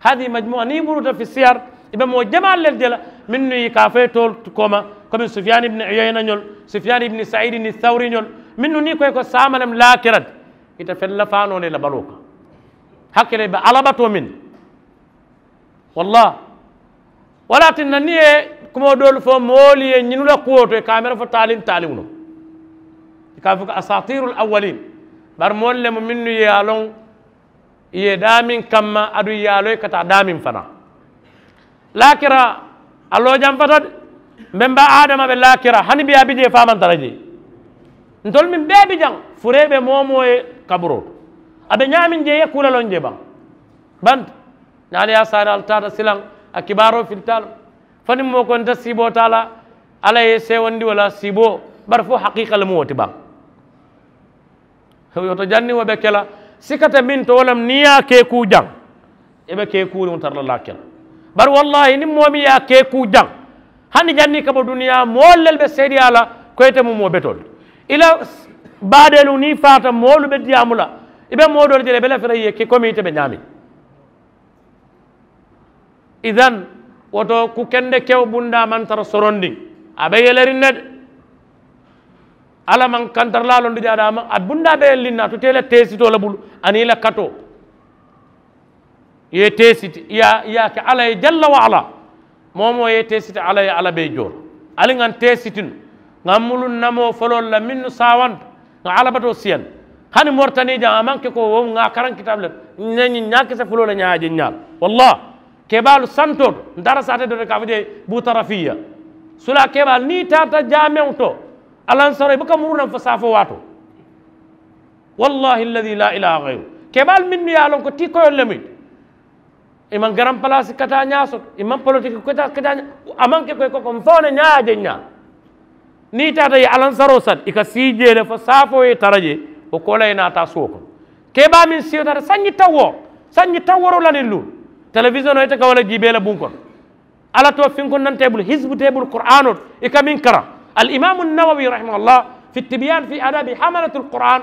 Hadihi majmuwa niŋ i buruta fi siyar, i be moo jamaalu le je la mennu ye i ka a fo i ye toolu kooma, komi sufiyani ibini uyayina ñolu, sufiyani ibini sayidini sawuri ñolu, mennu niŋ i ko i ko saama lemu laakira ti. I te feŋ lafaa noo la i la baluwo kaŋ. Hakkiloo i be alabatoo meŋ na. Wallaahi. Wo le ye a tinna niŋ i ye kumoo doolu fo moolu ye ñinnu la kuwo to i ka a mere fo taaliŋ taaliŋo loŋ. I ka a fo ko asaatiiru l awwaliin. Bari moolu le mu mennu ye a loŋ i ye daameŋ kamma aduŋ i ye a loŋ i ka taa daameŋ fanaa. Laakira a loo jamfata de. Mbe mbe adama be laakira hani be a bi jee fo a maŋ tara jee. Ntolu meŋ bee bi jaŋ furee be moo-wo-moo ye kaburoo to. A be ñaameŋ jee i ye kuu la loŋ jee baŋ. Banta niŋ ali ye a saari ali taata silaŋ a kibaaroo filita a la. Fo niŋ moo ko nte siiboo taa la alla ye i seewandi wo la siiboo. Bari fo hakiika le mu wo ti baŋ. Wo to janniŋ wo be ke la sika te meŋ to wo le mu niŋ i ye a ke kuu jaŋ i be ke kuuriŋo tara la laakira. Bari wallaahi niŋ moo meŋ ye a ke kuu jaŋ hani janniŋ i ka bo duniyaa moolu le be seedeyaa la ko ite mu moo betoo le ti. I la baadeelu niŋ i faata moolu be diyaamu la. I be moo doolu je la i be lafita i ye ke komi ite be ñaameŋ. Idan wo to ku kende kewo bundaa maŋ tara sorondiŋ. A be yeleriŋ ne de. Alla maŋ kantarilaa loŋ di jaadaama a bundaa be yeleriŋ ne a tuta i la teesitoo le bulu aniŋ i la katoo. I ye teesiti i ye a ke alla ye jalla wa alla. Moo-wo-moo ye teesiti alla ye alla be i joo la. Ali ŋa n teesiti nu ŋa n muluŋ namoo foloolu la mennu saawanta ŋa alla batoo siyandi. Hani moritanii jaŋ a maŋ ke ko wo mu ŋa a karaŋ kitaabu le n ne ñiŋ ñaakise fuloo le ñaa a je ñaa la. Wallaahi. Kebaalu santoo to n taata saatee doo to ka a fo jee buutarafiya. Sulaa kebaalu niŋ i taata jaameŋo to alansaroo i buka muruu naŋ fo saafoo waatoo. Wallaahi alladi laa ilaaha gayru. Kebaalu mennu ye a loŋ ko tii koyoolu le mu i ti. I maŋ garaŋ palaasi kataa ñaa soto, i maŋ politiki kataa kataa ñaa. A maŋ ke ko i ko ko mfo ne ñaa ye a je ñaa. Niŋ i taata ye alansaroo sali i ka sii jee le fo saafoo ye tara jee. Wo koolaa ye naa taa suwo kono. Kee baa meŋ siyo taata sanji tawooro, sanji tawooro la niŋ luŋ. Telewisiyonoo ite ka wo le jiibee la buŋ kono. Alla too finkondaŋ teebulu hisibu teebulu kuraanoo to i ka meŋ karaŋ. Alimaamu nawawi rahimahullah fi tibiyan fi adabi hamalatu alquran.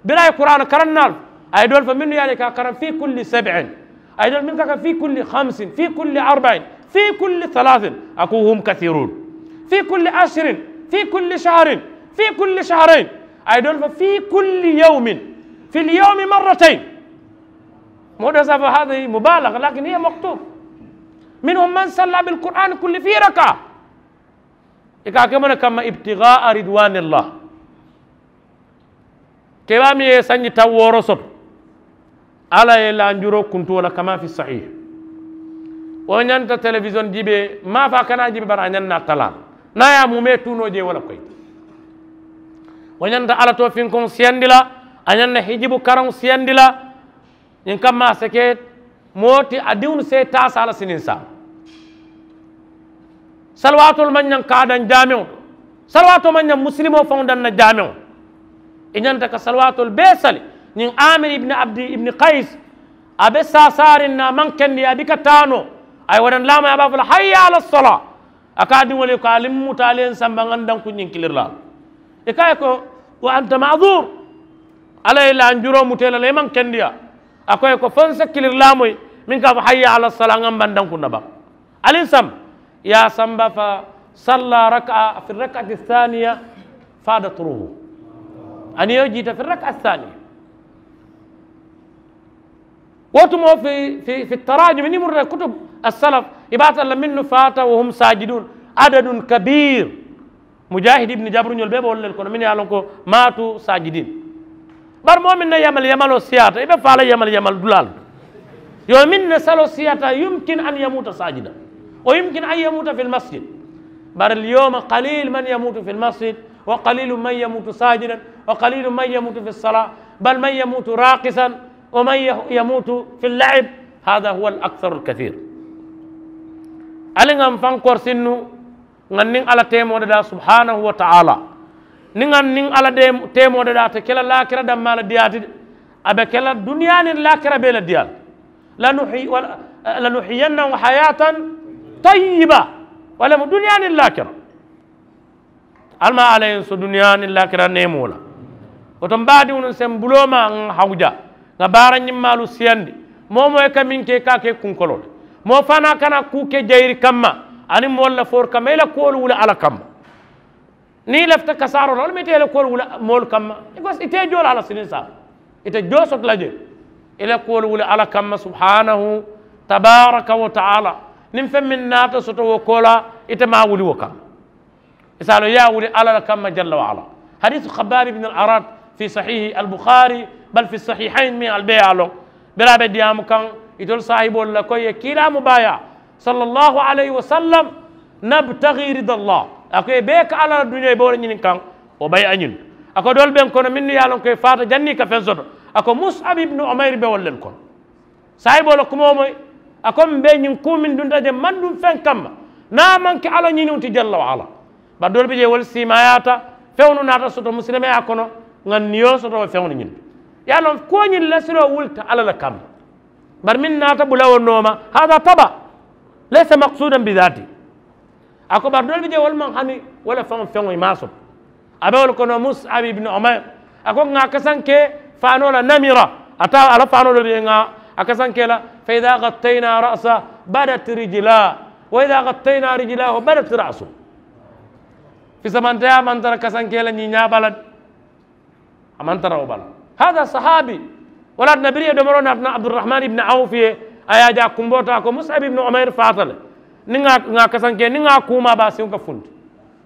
Bira ye kuraana karannaalu, a ye doolu fo mennu ye a la i ka a karaŋ fi kulli sabin. A ye doolu mennu ka a karaŋ fi kulli hamsin, fi kulli arbain, fi kulli salasin. A ko hum kathirun. Fi kulli ashirin, fi kulli shahrin, fi kulli shahrain. A ye doolu fo fi kulli yawmin, fi lyawmi marratain. Moo doo se a fo hadihi mubalaga lakin hiya maktub. Minhum man salla bilkurani kulli fi raka. I ka a ke mo ne kamma ibtigaa ridwanillah. Kebaa meŋ ye sanji taŋ wooro soto, alla ye lanjuroo kuntu wo la kama fi sahih. Wo ñanta telewisiyoŋ jiibee maafaa kana jiibe bari a ñaŋ na talaa la niŋ a ye a mumee tuunoo jee wo la koyi. Wo ñanta alla too finkoŋ siyandi la, a ñaŋ na hijibu karaŋ siyandi la. Ñiŋ kamma a si ke moo ti a diŋolu se taa saala siniŋ saa. Saliwaatoolu maŋ ñaŋ ka a daŋ jaameŋo to. Saliwaatoo maŋ ñaŋ musilimoo faŋo daŋ na jaameŋo. I ñanta ka saliwaatoolu bee sali. Ñiŋ amir ibni abdi ibni kayis, a be saasaariŋ na a maŋ kendi a bi ka taa noo. A ye wo daŋ laama ye a be a fo la hayya ala salaa. A ka a diŋolu ye ko ali muta ali ye n samba ŋa n danku ñiŋ kilirilaa la. I ka a ye ko wa anta madur. Alla ye lanjuroo muta i la le i maŋ kendiyaa. A ko ye ko fo n se kilirilaa moyi meŋ ka a fo hayya ala salaa ŋa n bandaŋ kunna baŋ. Ali n samba i ye a samba fa salla raka fi rakati saniya. Fada turuhu. Aniyo jiita fi rakati saniya. Wo tumoo fi tarajumi niŋ murita kutub asalaf i be a tara la mennu faata wa hum sajidun adadun kabir. Mujahid ibni jabruñolu bee be wolu le kono mennu ye a loŋ ko maatu sajidin. Bari moo meŋ na yamal yamaloo siyaata i be faa la yamal yamal dulaalu. Yo meŋ na saloo siyaata yumkin an yamuta sajida. Wa yumkin an yamuta fi lmasjid. Bari lyoma qalil man yamutu fi lmasjid. Wa qalilu man yamutu sajidan. Wa qalilu man yamutu fi lsala. Bal man yamutu raqisan. Wa man yamutu fi llaib. Hada huwa laksaru lkathir. Ali ŋa n faŋ korisinnu ŋa n niŋ alla teemoo dadaa subhanahu wa taala. Niŋ ŋa n niŋ alla teemoo dadaa te ke la laakira dammaa la diyaa ti de. A be ke la duniyaa niŋ laakira bee la diyaa le. Lanuhiyannahum hayatan tayiba. Walla mu duniyaa niŋ laakira. Ali maa alla ye n so duniyaa niŋ laakira neemoo la. Wo to m baadiŋolu se m buloo maa ŋa hawuja ŋa baara ñimmaalu siyandi. Moo moo ye ka meŋ ke i ka a ke kunkoloo le. Moo fanaa kana kuu ke jayiri kamma aniŋ moolu la fooru kamma i la kuwolu wuli alla kamma. Niŋ i lafita kasaaroo la walla mu ite i la kuwolu wuli moolu kamma. I ko ite joo la alla siniŋ saa. Ite joo soto la je i la kuwolu wuli alla kamma subhanahu tabaraka wa taala. Niŋ feŋ meŋ naata soto wo koo la ite maa wuli wo kamma. I se a loŋ i ye a wuli alla la kamma jalla wa ala. Hadiisu khabaab ibn al arat fi sahihi albukhari bal fi sahihain meŋ ali be ye a loŋ. Bira be diyaamu kaŋ itolu saahiboolu la ko i ye kiilaa mu baayaa sallallahu alayhi wa sallam. Nabtagi rida allah. A ko i bee ka alla la duñoo i be wo le ñiniŋ kaŋ. Wo bayi a ñiŋ a ko doolu be n kono mennu ye a loŋ ko i faata janniŋ i ka feŋ soto. A ko musab ibnu umayr be wolu le kono. Saayiboo la kumoo moyi a ko m be ñiŋ kuu meŋ dunta je maŋ duŋ feŋ kamma. Niŋ a maŋ ke alla ñiniŋo ti jalla wa ala. Bari doolu bi jee wolu siimaayaata feŋolu naata soto musilimeyaa kono. Ŋa niyo soto wo feŋolu ñiŋ ye a loŋ kuwo ñiŋ lasiloo wulita alla le kamma. Bari meŋ naata bula wo nooma hada taba. Laysa maksudan bi dati. A ko bari doolu bi jee wolu maŋ hani wo le feŋo feŋo i maŋ a soto. A be wolu kono musab ibnu umayr. A ko ŋa a kasanke faanoo la namira. A taa a la faanoo le be ŋa a kasanke la. Fa ida gattayna rasa badat rijla. Wa ida gattayna rijlahu badat rasu. Fisamanteyaa maŋ tara kasanke la ñiiñaa bala. A maŋ tara wo bala. Hada sahabi. Wala a tinna biriŋ ye domoroo naata naŋ abdurahman ibni awufu ye. A ye a je a kumboo to a ko musab ibnu umayr faata le. Niŋ ŋa a kasanke niŋ ŋa a kuumaa baa siŋo ka funti.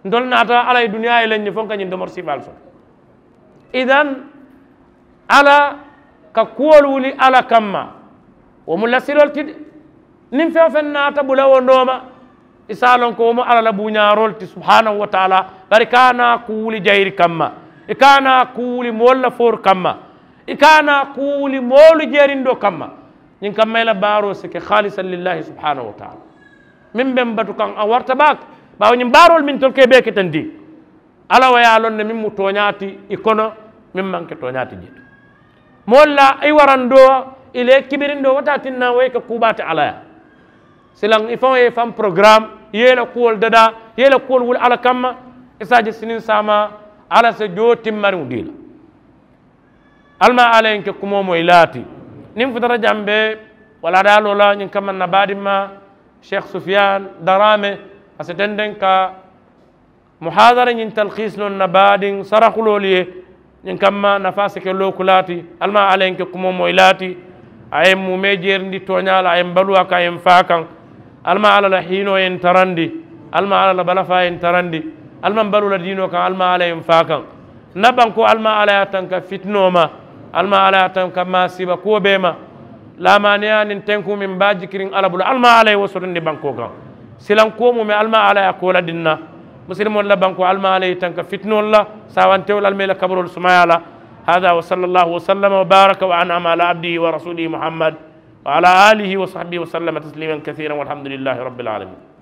Ntolu naata alla ye duniyaa ye le ñiŋ fo n ka ñiŋ domori siifaalu soto. Idan alla ka kuwolu wuli alla kamma. Wo mu lasiloolu ti de. Niŋ feŋ feŋ naata bula wo nooma i se a loŋ ko wo mu alla la buuñaaroolu ti subhanahu wa taala. Bari i ka a naa kuu wuli jayiri kamma. I ka a naa kuu wuli moolu la fooru kamma. I ka a naa kuu wuli moolu jeerindoo kamma. Ñiŋ kamma i la baaroo si ke haalisan lillahi subhanahu wa taala. Meŋ be m batu kaŋ a warata baake. Baawo ñiŋ baaroolu meŋ ntolu ka i bee ke teŋ ti, alla wo ye a loŋ ne meŋ mu tooñaa ti i kono, meŋ maŋ ke tooñaa ti jee to. Moolu la i warandoo, i la i kibirindoo wo te a tinna wo ye ke kuu baa ti alla ye. Silaŋ i faŋo ye i faŋ porogaraamu, i ye i la kuwolu dadaa, i ye i la kuwolu wuli alla kamma. I se a je siniŋ saamaa alla si joo timmariŋo dii la. Almaa alla ye n ke kumoo moyi laati. Niŋ futata jambe walla a daaloo la ñiŋ kamma n na baadimmaa, sheikh sufiyan daraame, a si tendeŋ ka muhaadara ñiŋ talkiisi noŋ n na baadiŋ sarahuloolu ye. Ñiŋ kamma nafaa si ke looku laati. Almaa alla ye n ke kumoo moyi laati. A ye m muumee jeerindi tooñaa la, a ye m baluu a kaŋ, a ye m faa kaŋ. Almaa alla la hiinoo ye n tarandi. Almaa alla la balafaa ye n tarandi. Almaa m baluu la diinoo kaŋ, almaa alla ye m faa kaŋ. N na bankoo almaa alla ye a tanka fitinoo ma. Almaa alla ye a tanka maasiiba kuwo bee ma. Laamaaniyaa niŋ tenkuu meŋ be a jikiriŋ alla bulu, almaa alla ye wo sotondi bankoo kaŋ. Silaŋ kuwo muumee almaa alla ye a koo la dinna. Musilimoolu la bankoo almaa alla ye i tanka fitinoolu la. Saawantewo la almaa i la kaburoolu sumayaa la. Hada wa salla allahu wa sallama wa baaraka wa anama ala abdihi wa rasulihi muhammad, wa ala alihi wa sahbihi wa sallama tasliman kasiran walhamdulillahi rabbil alamin.